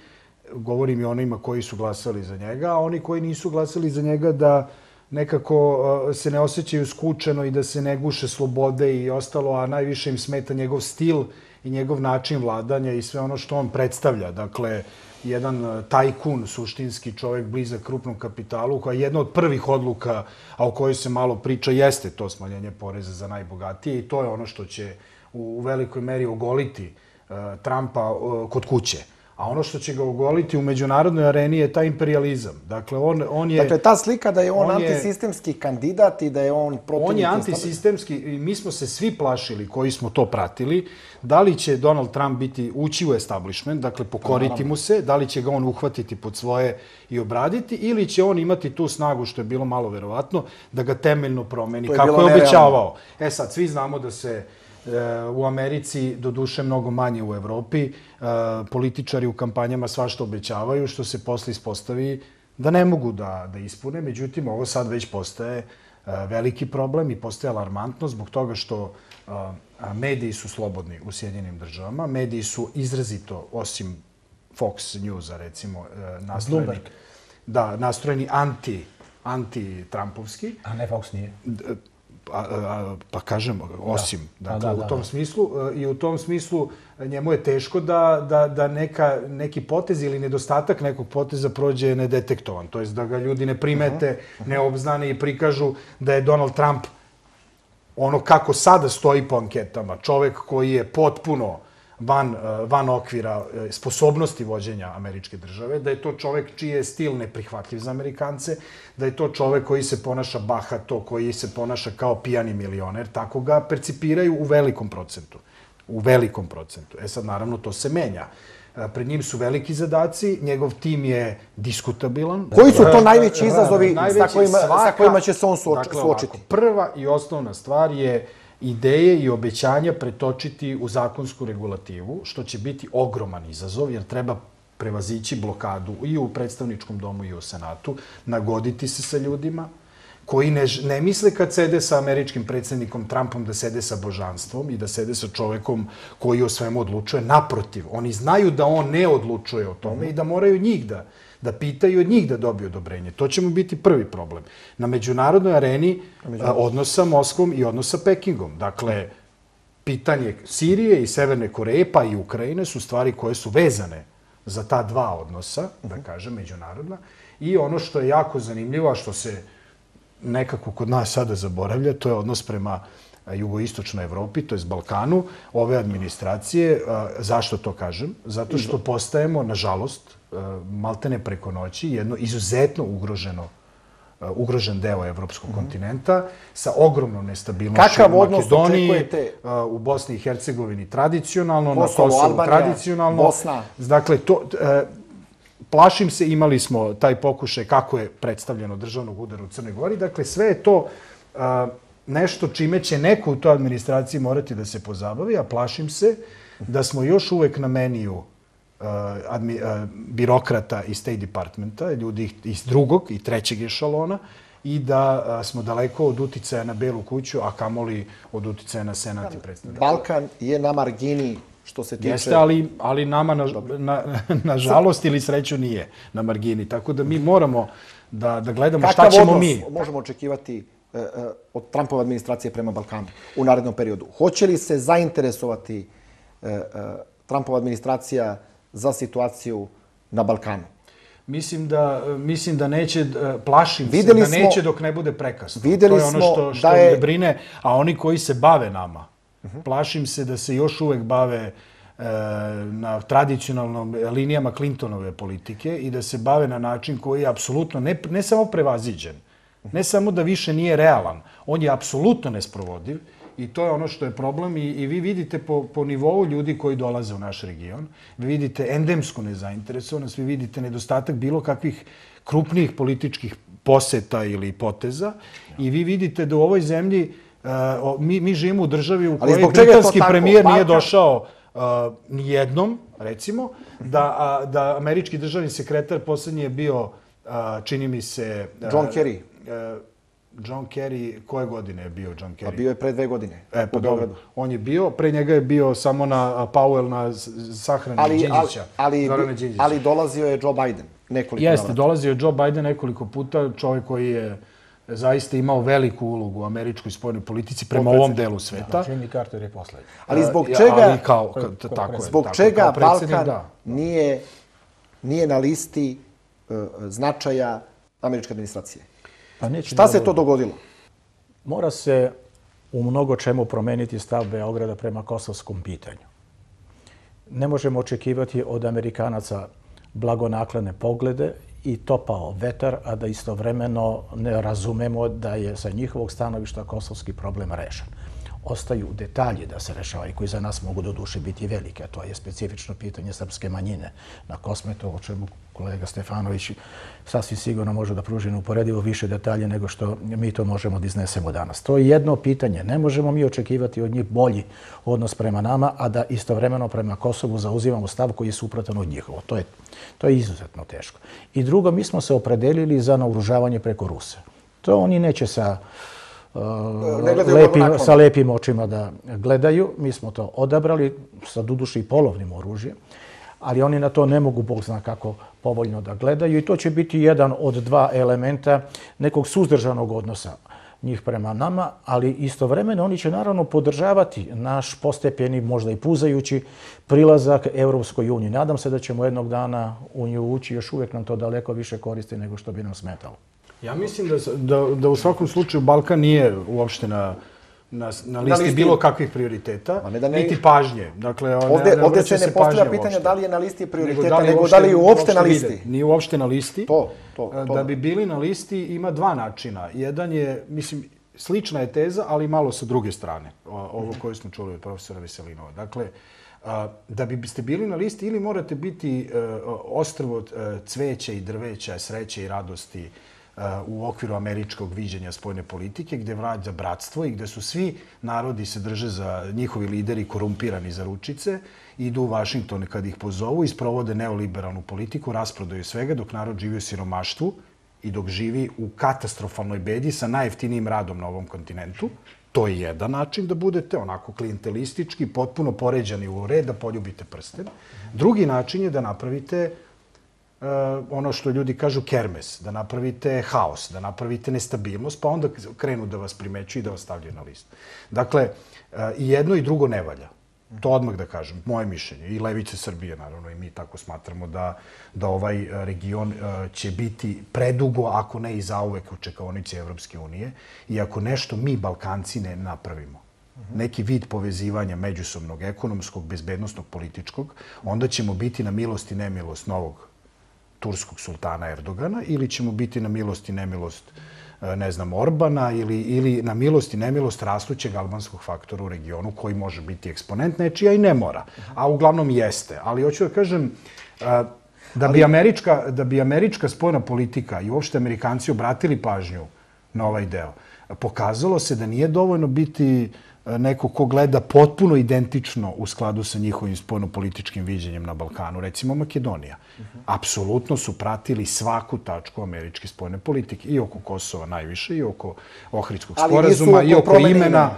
Speaker 3: Govorim i onima koji su glasali za njega, a oni koji nisu glasali za njega da nekako se ne osjećaju skučeno i da se ne guše slobode i ostalo, a najviše im smeta njegov stil i njegov način vladanja i sve ono što on predstavlja. Dakle, jedan tajkun, suštinski čovjek blizak krupnom kapitalu, koja je jedna od prvih odluka, a o kojoj se malo priča, jeste to smanjenje poreza za najbogatije i to je ono što će u velikoj meri ogoliti Trumpa kod kuće. A ono što će ga ogoliti u međunarodnoj areni je taj imperializam. Dakle, on je...
Speaker 9: Dakle, ta slika da je on antisistemski kandidat i da je on protivnik...
Speaker 3: On je antisistemski i mi smo se svi plašili koji smo to pratili. Da li će Donald Trump ući u establishment, dakle pokoriti mu se, da li će ga on uhvatiti pod svoje i obraditi, ili će on imati tu snagu, što je bilo malo verovatno, da ga temeljno promeni, kako je obećavao. Sad, svi znamo da se u Americi, doduše mnogo manje u Evropi, političari u kampanjama svašta obećavaju, što se posle ispostavi da ne mogu da ispune. Međutim, ovo sad već postaje veliki problem i postaje alarmantno zbog toga što mediji su slobodni u Sjedinjenim državama. Mediji su izrazito, osim Fox Newsa, recimo, nastrojeni anti-Trumpovski.
Speaker 10: A ne Fox nije.
Speaker 3: Pa kažem, osim. Dakle, u tom smislu, i u tom smislu njemu je teško da neki potez ili nedostatak nekog poteza prođe nedetektovan. To jest da ga ljudi ne primete, ne obznane i prikažu da je Donald Trump ono kako sada stoji po anketama, čovek koji je potpuno van okvira sposobnosti vođenja američke države, da je to čovek čiji je stil neprihvatljiv za Amerikance, da je to čovek koji se ponaša bahato, koji se ponaša kao pijani milioner, tako ga percipiraju u velikom procentu. U velikom procentu. Sad, naravno, to se menja. Pred njim su veliki zadaci, njegov tim je diskutabilan.
Speaker 9: Koji su to najveći izazovi sa kojima će se on suočiti?
Speaker 3: Prva i osnovna stvar je ideje i obećanja pretočiti u zakonsku regulativu, što će biti ogroman izazov, jer treba prevazići blokadu i u predstavničkom domu i u Senatu, nagoditi se sa ljudima koji ne misle kad sede sa američkim predsjednikom Trumpom da sede sa božanstvom i da sede sa čovekom koji o svemu odlučuje. Naprotiv, oni znaju da on ne odlučuje o tome i da moraju njih da pitaju od njih da dobiju odobrenje. To će mu biti prvi problem. Na međunarodnoj areni odnos sa Moskvom i odnos sa Pekingom. Dakle, pitanje Sirije i Severne Koreje, pa i Ukrajine, su stvari koje su vezane za ta dva odnosa, da kažem, međunarodna. I ono što je jako zanimljivo, a što se nekako kod nas sada zaboravlja, to je odnos prema jugoistočnoj Evropi, to je Balkanu, ove administracije. Zašto to kažem? Zato što postajemo, nažalost, maltene preko noći, jedno izuzetno ugrožen deo evropskog kontinenta sa ogromnom nestabilnošću u Makedoniji, u Bosni i Hercegovini tradicionalno, na Kosovu tradicionalno. Dakle, plašim se, imali smo taj pokušaj kako je predstavljeno državnog udara u Crnoj Gori. Dakle, sve je to nešto čime će neko u toj administraciji morati da se pozabavi, a plašim se da smo još uvek na meniju birokrata iz State Departmenta, ljudi iz drugog i trećeg ešalona, i da smo daleko od uticaja na Belu kuću, a kamoli od uticaja na Senat i predstavnika.
Speaker 9: Balkan je na margini što se tiče...
Speaker 3: Jeste, ali nama, nažalost ili sreću, nije na margini. Tako da mi moramo da gledamo šta ćemo mi.
Speaker 9: Kakav odnos možemo očekivati od Trumpove administracije prema Balkanu u narednom periodu? Hoće li se zainteresovati Trumpova administracija za situaciju na Balkanu?
Speaker 3: Mislim da neće, plašim se da neće dok ne bude prekasno. To je ono što me brine, a oni koji se bave nama, plašim se da se još uvek bave na tradicionalnom linijama Clintonove politike i da se bave na način koji je apsolutno ne samo prevaziđen, ne samo da više nije realan, on je apsolutno nesprovodiv. I to je ono što je problem i vi vidite po nivou ljudi koji dolaze u naš region, vi vidite endemsku nezainteresovanost, vi vidite nedostatak bilo kakvih krupnijih političkih poseta ili poteza i vi vidite da u ovoj zemlji mi živimo u državi u kojoj britanski premijer nije došao nijednom, recimo, da američki državni sekretar poslednji je bio, čini mi se...
Speaker 9: John Kerry.
Speaker 3: John Kerry, koje godine je bio John Kerry?
Speaker 9: Pa bio je pre 2 godine u Beogradu.
Speaker 3: On je bio, pre njega je bio samo na Powell na sahrani Đinđića.
Speaker 9: Ali dolazio je Joe Biden nekoliko puta.
Speaker 3: Jeste, dolazio je Joe Biden nekoliko puta, čovjek koji je zaista imao veliku ulogu u američkoj spoljnoj politici prema ovom delu sveta.
Speaker 10: Jimmy Carter je poslednji.
Speaker 9: Ali zbog čega Balkan nije na listi značaja američke administracije? Šta se to dogodilo?
Speaker 10: Mora se u mnogo čemu promeniti stav Beograda prema kosovskom pitanju. Ne možemo očekivati od Amerikanaca blagonaklone poglede i topao vetar, a da istovremeno ne razumemo da je sa njihovog stanovišta kosovski problem rešen. Ostaju detalji da se rešavaju koji za nas mogu do duše biti velike, a to je specifično pitanje srpske manjine na Kosmetu, o čemu kolega Stefanović sasvim sigurno može da pruži neuporedivo više detalje nego što mi to možemo da iznesemo danas. To je jedno pitanje. Ne možemo mi očekivati od njih bolji odnos prema nama, a da istovremeno prema Kosovu zauzimamo stav koji je suprotan od njihovo. To je izuzetno teško. I drugo, mi smo se opredelili za naoružavanje preko Rusa. To oni neće sa lepim očima da gledaju. Mi smo to odabrali sa doduše i polovnim oružjem, ali oni na to ne mogu, Bog zna kako, povoljno da gledaju i to će biti jedan od dva elementa nekog suzdržanog odnosa njih prema nama, ali istovremeno oni će naravno podržavati naš postepeni, možda i puzajući, prilazak Evropskoj uniji. Nadam se da ćemo jednog dana u nju ući, još uvijek nam to daleko više koristi nego što bi nam smetalo.
Speaker 3: Ja mislim da u svakom slučaju Balkan nije uopšte na listi bilo kakvih prioriteta, niti pažnje.
Speaker 9: Ovdje se ne postavlja pitanje da li je na listi prioriteta, nego da li je uopšte na listi.
Speaker 3: Nije uopšte na listi. Da bi bili na listi ima dva načina. Jedan je, mislim, slična je teza, ali malo sa druge strane. Ovo koje smo čuli od profesora Veselinova. Dakle, da biste bili na listi ili morate biti ostrvo cveća i drveća, sreće i radosti u okviru američkog viđenja spoljne politike, gde vlada bratstvo i gde su svi narodi se drže za njihovi lideri korumpirani za ručice, idu u Vašington kad ih pozovu i sprovode neoliberalnu politiku, rasprodaju svega dok narod živi u siromaštvu i dok živi u katastrofalnoj bedi sa najjeftinijim radom na ovom kontinentu. To je jedan način da budete onako klijentelistički, potpuno poređani u red, da poljubite prsten. Drugi način je da napravite ono što ljudi kažu kermes, da napravite haos, da napravite nestabilnost, pa onda krenu da vas primećuju i da vas stavljaju na listu. Dakle, i jedno i drugo ne valja. To odmah da kažem, moje mišljenje. I Levice Srbije, naravno, i mi tako smatramo da ovaj region će biti predugo, ako ne i zauvek, u čekaonici Evropske unije. I ako nešto mi, Balkanci, ne napravimo, neki vid povezivanja međusobnog, ekonomskog, bezbednostnog, političkog, onda ćemo biti na milost i nemilost novog turskog sultana Erdogana ili ćemo biti na milost i nemilost, ne znam, Orbana ili na milost i nemilost rastućeg albanskog faktora u regionu koji može biti eksponent nečija i ne mora. A uglavnom jeste. Ali hoću da kažem, da bi američka spoljna politika i uopšte Amerikanci obratili pažnju na ovaj deo, pokazalo se da nije dovoljno biti neko ko gleda potpuno identično u skladu sa njihovim spoljnopolitičkim viđenjem na Balkanu. Recimo Makedonija. Apsolutno su pratili svaku tačku američke spoljne politike. I oko Kosova najviše, i oko Ohridskog sporazuma, i oko imena.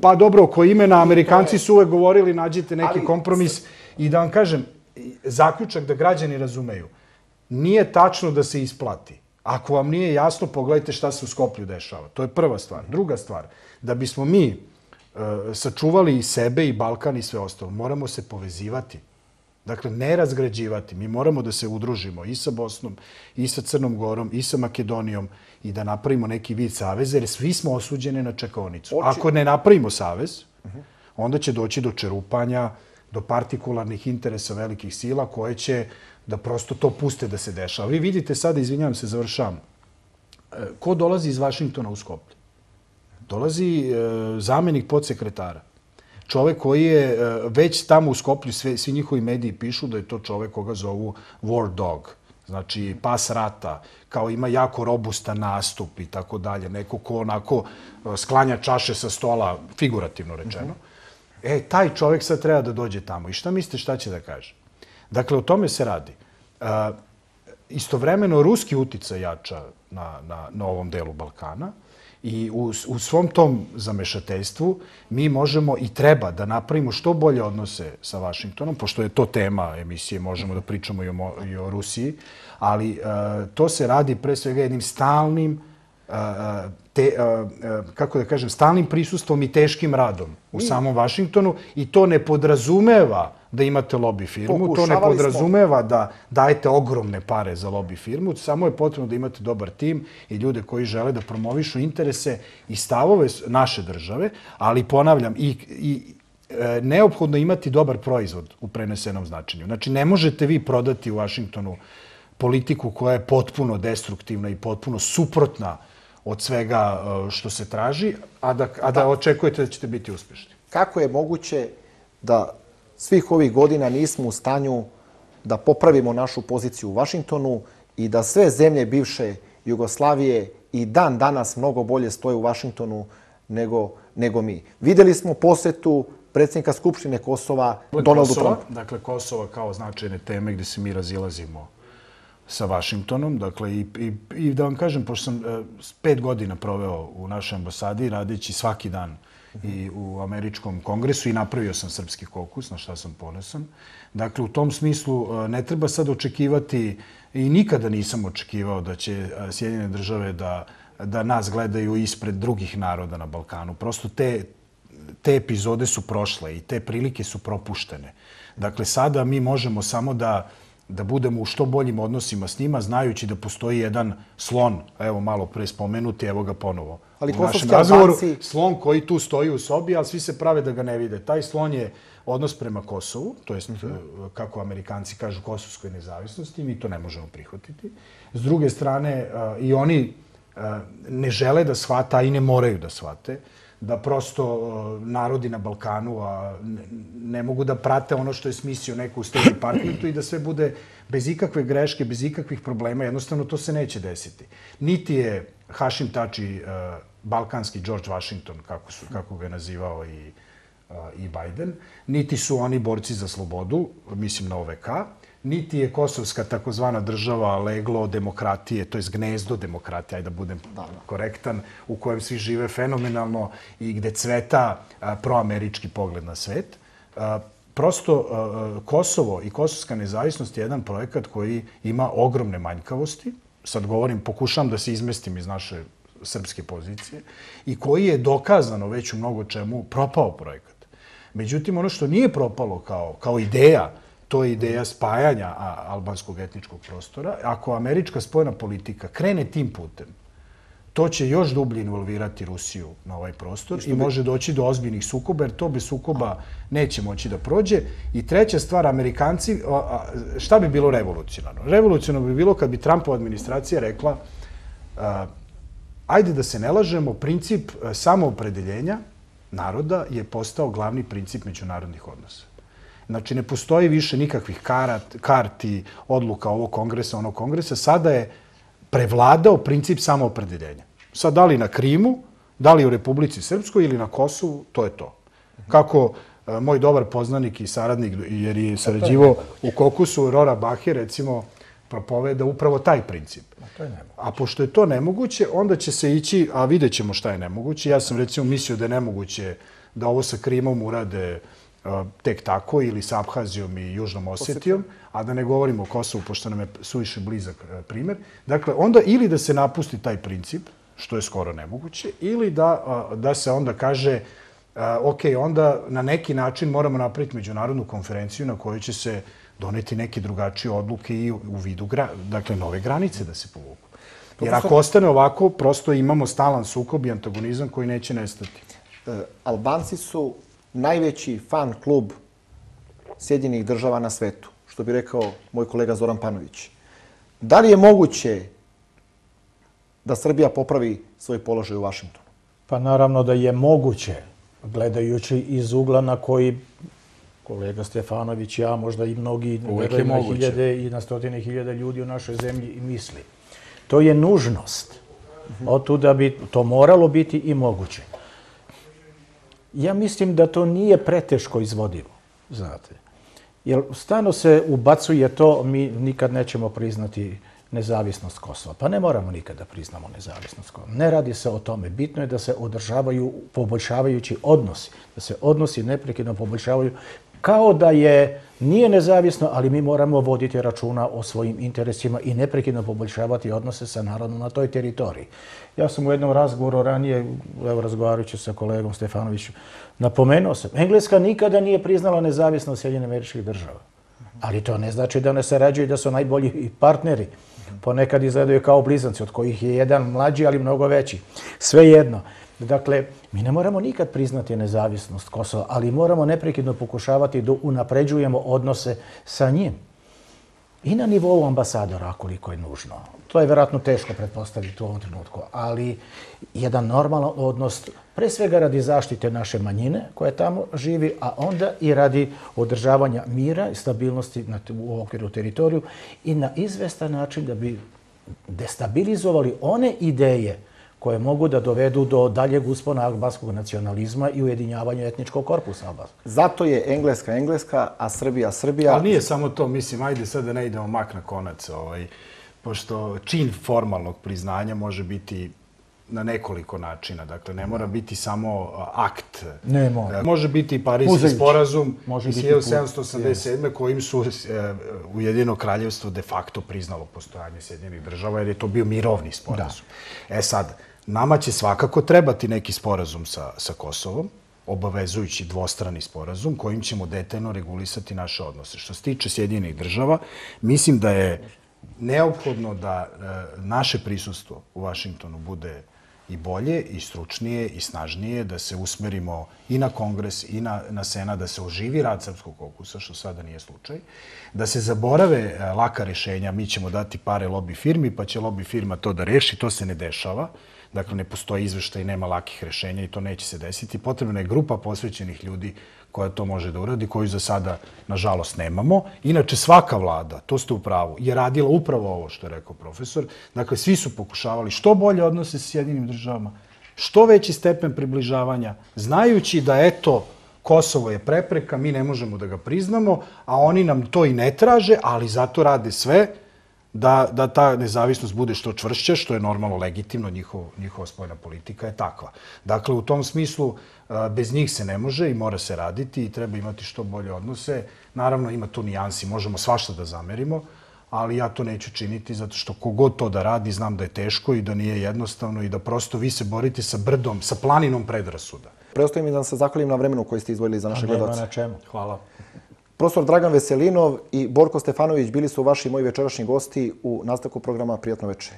Speaker 3: Pa dobro, oko imena Amerikanci su uvek govorili nađite neki kompromis. I da vam kažem, zaključak da građani razumeju, nije tačno da se isplati. Ako vam nije jasno, pogledajte šta se u Skoplju dešava. To je prva stvar. Druga stvar, da bismo mi sačuvali i sebe i Balkan i sve ostalo, moramo se povezivati. Dakle, ne razgrađivati. Mi moramo da se udružimo i sa Bosnom, i sa Crnom Gorom, i sa Makedonijom i da napravimo neki vid saveza, jer svi smo osuđeni na čekaonicu. Ako ne napravimo savez, onda će doći do čerupanja, do partikularnih interesa velikih sila koje će da prosto to puste da se dešava. Vi vidite sada, izvinjavam se, završavam, ko dolazi iz Vašingtona u Skoplje? Dolazi zamenik podsekretara. Čovek koji je već tamo u Skoplju, svi njihovi mediji pišu da je to čovek koga zovu war dog. Znači, pas rata, kao ima jako robustan nastup i tako dalje. Neko ko onako sklanja čaše sa stola, figurativno rečeno. Taj čovek sad treba da dođe tamo. I šta mislite šta će da kaže? Dakle, o tome se radi. Istovremeno, ruski uticaj jača na ovom delu Balkana. I u svom tom zamešateljstvu mi možemo i treba da napravimo što bolje odnose sa Vašingtonom, pošto je to tema emisije, možemo da pričamo i o Rusiji, ali to se radi pre svega jednim stalnim, kako da kažem, stalnim prisustvom i teškim radom u samom Vašingtonu i to ne podrazumeva da imate lobby firmu, to ne podrazumeva da dajete ogromne pare za lobby firmu, samo je potrebno da imate dobar tim i ljude koji žele da promovišu interese i stavove naše države, ali ponavljam, i neophodno imati dobar proizvod u prenesenom značenju. Znači, ne možete vi prodati u Vašingtonu politiku koja je potpuno destruktivna i potpuno suprotna od svega što se traži, a da očekujete da ćete biti uspešni.
Speaker 9: Kako je moguće da svih ovih godina nismo u stanju da popravimo našu poziciju u Vašingtonu i da sve zemlje bivše Jugoslavije i dan danas mnogo bolje stoje u Vašingtonu nego mi? Videli smo posetu predsjednika Skupštine Kosova Donaldu Trumpu.
Speaker 3: Dakle, Kosova kao značajne teme gde se mi razilazimo sa Vašingtonom. Dakle, i da vam kažem, pošto sam 5 godina proveo u našoj ambasadi, radeći svaki dan i u američkom kongresu i napravio sam srpski kokus, na šta sam ponosan. Dakle, u tom smislu ne treba sad očekivati i nikada nisam očekivao da će Sjedinjene države da nas gledaju ispred drugih naroda na Balkanu. Prosto te epizode su prošle i te prilike su propuštene. Dakle, sada mi možemo samo da budemo u što boljim odnosima s njima, znajući da postoji jedan slon, evo malo pre spomenuti, evo ga ponovo
Speaker 9: ali
Speaker 3: u našem razgovoru, slon koji tu stoji u sobi, ali svi se prave da ga ne vide. Taj slon je odnos prema Kosovu, to jest, kako Amerikanci kažu, kosovskoj nezavisnosti, mi to ne možemo prihvatiti. S druge strane, i oni ne žele da shvate, a i ne moraju da shvate, da prosto narodi na Balkanu ne mogu da prate ono što je smislio neko u State Departmentu i da sve bude bez ikakve greške, bez ikakvih problema. Jednostavno, to se neće desiti. Niti je Hašim Tači balkanski George Washington, kako ga je nazivao i Biden, niti su oni borci za slobodu, mislim na OVK, niti je kosovska takozvana država leglo demokratije, to je gnezdo demokratije, ajde da budem korektan, u kojem svi žive fenomenalno i gde cveta proamerički pogled na svet. Prosto Kosovo i kosovska nezavisnost je jedan projekat koji ima ogromne manjkavosti. Sad govorim, pokušam da se izmestim iz naše srpske pozicije i koji je dokazano već u mnogo čemu propao projekat. Međutim, ono što nije propalo kao ideja, to je ideja spajanja albanskog etničkog prostora. Ako američka spoljna politika krene tim putem, to će još dublje involvirati Rusiju na ovaj prostor i može doći do ozbiljnih sukoba, jer to bez sukoba neće moći da prođe. I treća stvar, Amerikanci, šta bi bilo revolucionarno? Revolucionarno bi bilo kad bi Trumpova administracija rekla ajde da se ne lažemo, princip samoopredeljenja naroda je postao glavni princip međunarodnih odnosa. Znači, ne postoji više nikakvih karti, odluka ovog kongresa, onog kongresa. Sada je prevladao princip samoopredeljenja. Sad, da li na Krimu, da li u Republici Srpskoj ili na Kosovu, to je to. Kako moj dobar poznanik i saradnik, jer je sarađivao u Kokusu, Rora Bahe, recimo, propoveda upravo taj princip. A pošto je to nemoguće, onda će se ići, a vidjet ćemo šta je nemoguće. Ja sam recimo mislio da je nemoguće da ovo sa Krimom urade tek tako ili sa Abhazijom i Južnom Osetijom, a da ne govorimo o Kosovu, pošto nam je suviše blizak primer. Dakle, onda ili da se napusti taj princip, što je skoro nemoguće, ili da se onda kaže ok, onda na neki način moramo napraviti međunarodnu konferenciju na kojoj će se doneti neke drugačije odluke i u vidu nove granice da se povuku. Jer ako ostane ovako, prosto imamo stalan sukob i antagonizam koji neće nestati.
Speaker 9: Albanci su najveći fan klub Sjedinjenih država na svetu, što bi rekao moj kolega Zoran Panović. Da li je moguće da Srbija popravi svoj položaj u Vašingtonu?
Speaker 10: Pa naravno da je moguće, gledajući iz ugla na koji kolega Stefanović, ja, možda i mnogi, na hiljade i na stotine hiljada ljudi u našoj zemlji misli. To je nužnost. Otuda bi to moralo biti i moguće. Ja mislim da to nije preteško izvodivo, znate. Jer stano se ubacuje to, mi nikad nećemo priznati nezavisnost Kosova. Pa ne moramo nikada priznamo nezavisnost Kosova. Ne radi se o tome. Bitno je da se održavaju poboljšavajući odnosi. Da se odnosi neprekidno poboljšavaju. Kao da nije nezavisno, ali mi moramo voditi računa o svojim interesima i neprekidno poboljšavati odnose sa narodom na toj teritoriji. Ja sam u jednom razgovoru ranije, razgovarajući sa kolegom Stefanovićem, napomenuo sam, Engleska nikada nije priznala nezavisnost Sjedinjenih Američkih Država. Ali to ne znači da ne sarađuju i da su najbolji partneri. Ponekad izgledaju kao blizanci, od kojih je jedan mlađi, ali mnogo veći. Svejedno. Dakle, mi ne moramo nikad priznati nezavisnost Kosova, ali moramo neprekidno pokušavati da unapređujemo odnose sa njim. I na nivou ambasadora, koliko je nužno. To je vjerojatno teško pretpostaviti u ovom trenutku, ali jedan normalan odnos, pre svega radi zaštite naše manjine koja tamo živi, a onda i radi održavanja mira i stabilnosti u okviru teritoriju i na izvestan način da bi destabilizovali one ideje koje mogu da dovedu do daljeg uspona albanskog nacionalizma i ujedinjavanja etničkog korpusa albanskog.
Speaker 9: Zato je Engleska Engleska, a Srbija Srbija.
Speaker 3: Ali nije samo to, mislim, ajde sad da ne idemo mak na konac, pošto čin formalnog priznanja može biti na nekoliko načina. Dakle, ne mora biti samo akt.
Speaker 10: Ne mora.
Speaker 3: Može biti i Pariski sporazum iz 1787. kojim su Ujedinjeno kraljevstvo de facto priznalo postojanje Sjedinjenih država, jer je to bio mirovni sporazum. Sad, nama će svakako trebati neki sporazum sa Kosovom, obavezujući dvostrani sporazum kojim ćemo detaljno regulisati naše odnose. Što se tiče Sjedinjenih država, mislim da je neophodno da naše prisustvo u Vašingtonu bude i bolje, i stručnije, i snažnije, da se usmerimo i na Kongres, i na Senat, da se oživi rad Srpskog kokusa, što sada nije slučaj, da se zaborave laka rešenja, mi ćemo dati pare lobby firmi, pa će lobby firma to da reši, to se ne dešava. Dakle, ne postoji izveštaj, nema lakih rešenja i to neće se desiti. Potrebna je grupa posvećenih ljudi koja to može da uradi, koju za sada, nažalost, nemamo. Inače, svaka vlada, to ste u pravu, je radila upravo ovo što je rekao profesor. Dakle, svi su pokušavali što bolje odnose sa Sjedinim državama, što veći stepen približavanja, znajući da, eto, Kosovo je prepreka, mi ne možemo da ga priznamo, a oni nam to i ne traže, ali zato rade sve da ta nezavisnost bude što čvršća, što je normalno legitimno, njihova spoljna politika je takva. Dakle, u tom smislu, bez njih se ne može i mora se raditi i treba imati što bolje odnose. Naravno, ima tu nijansi, možemo svašta da zamerimo, ali ja to neću činiti zato što kogod to da radi, znam da je teško i da nije jednostavno i da prosto vi se borite sa brdom, sa planinom predrasuda.
Speaker 9: Preostaje mi da se zahvalim na vremenu koji ste izdvojili za naše gledalce.
Speaker 10: Nema na čemu.
Speaker 3: Hvala.
Speaker 9: Profesor Dragan Veselinov i Borko Stefanović bili su vaši i moji večerašnji gosti u nastavku programa Prijatno večer.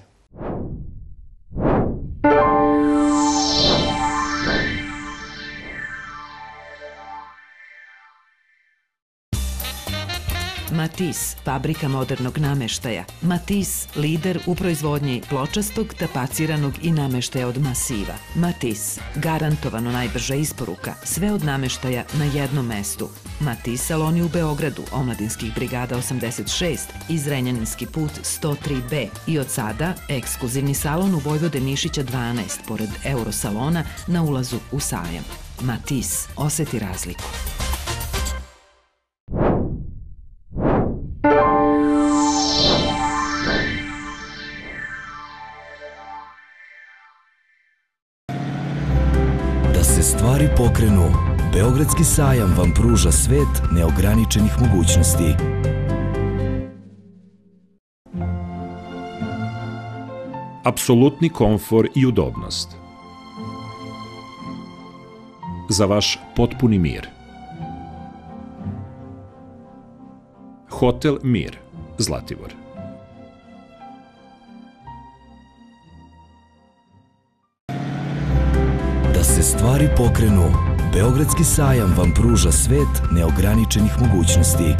Speaker 11: Matis, fabrika modernog nameštaja. Matis, lider u proizvodnji pločastog, tapaciranog i nameštaja od masiva. Matis, garantovano najbrža isporuka, sve od nameštaja na jednom mestu. Matis saloni u Beogradu, Omladinskih brigada 86 i Zrenjaninski put 103B. I od sada ekskluzivni salon u Vojvode Mišića 12, pored Eurosalona na ulazu u sajam. Matis, oseti razliku.
Speaker 5: Stvari pokrenu. Beogradski sajam vam pruža svet neograničenih mogućnosti.
Speaker 6: Apsolutni komfor i udobnost. Za vaš potpuni mir. Hotel Mir, Zlatibor.
Speaker 5: Da se stvari pokrenu, Beogradski sajam vam pruža svet neograničenih mogućnosti.